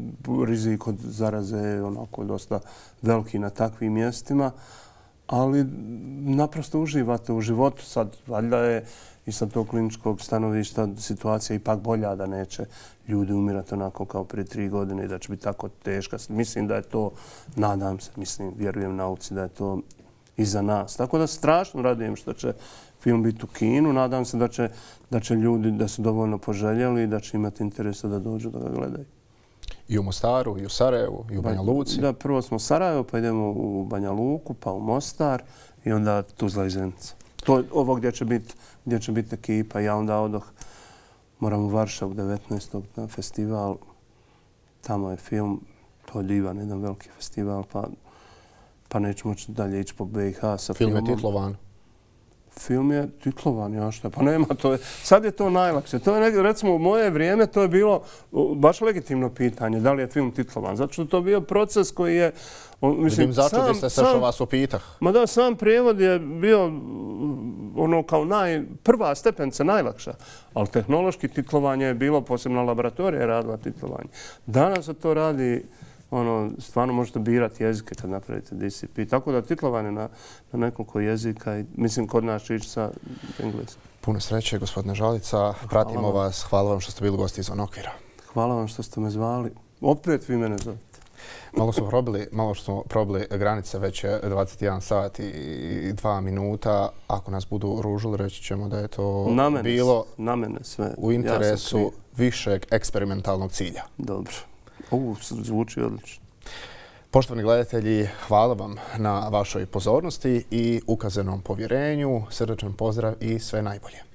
rizik od zaraze je onako dosta veliki na takvim mjestima, ali naprosto uživate u životu. Sad, valjda je i sa tog kliničkog stanovišta situacija ipak bolja, da neće ljudi umirati onako kao prije 3 godine i da će biti tako teška. Mislim da je to, nadam se, vjerujem nauci da je to iza nas. Tako da strašno radujem što će film biti u kinu. Nadam se da će ljudi da su dovoljno poželjeli i da će imati interesa da dođu da ga gledaju. I u Mostaru, i u Sarajevu, i u Banja Luci? Da, prvo smo u Sarajevo, pa idemo u Banja Luku, pa u Mostar i onda Tuzla i Zenica. To je ovo gdje će biti ekipa. Ja onda odoh, moram u Varšavu 19. na festival. Tamo je film, to je divan, jedan veliki festival, pa neću moći dalje ići po BiH sa filmom. Film je titlovan? Film je titlovan, ja šta, pa nema, sad je to najlakše. To je, recimo, u moje vrijeme to je bilo baš legitimno pitanje, da li je film titlovan. Zato što to je bio proces koji je... Vidim, začudi ste se što vas upitah. Ma da, sam prijevod je bio ono kao prva stepenca, najlakša. Ali tehnološki titlovanje je bilo, posebno laboratorija je radila titlovanje. Danas se to radi... stvarno možete birati jezike kad napravite DCP. Tako da titlovanje na nekoliko jezika i mislim kod nas će ići sa engleskim. Puno sreće, gospodine Žalica. Pratimo vas. Hvala vam što ste bili gosti izvan okvira. Hvala vam što ste me zvali. Opet vi mene zovete. Malo smo probili granice, već je 21 sat i 2 minuta. Ako nas budu ružili, reći ćemo da je to bilo u interesu višeg eksperimentalnog cilja. Dobro. Ovo zvuči odlično. Poštovani gledatelji, hvala vam na vašoj pozornosti i ukazanom povjerenju. Srdačan pozdrav i sve najbolje.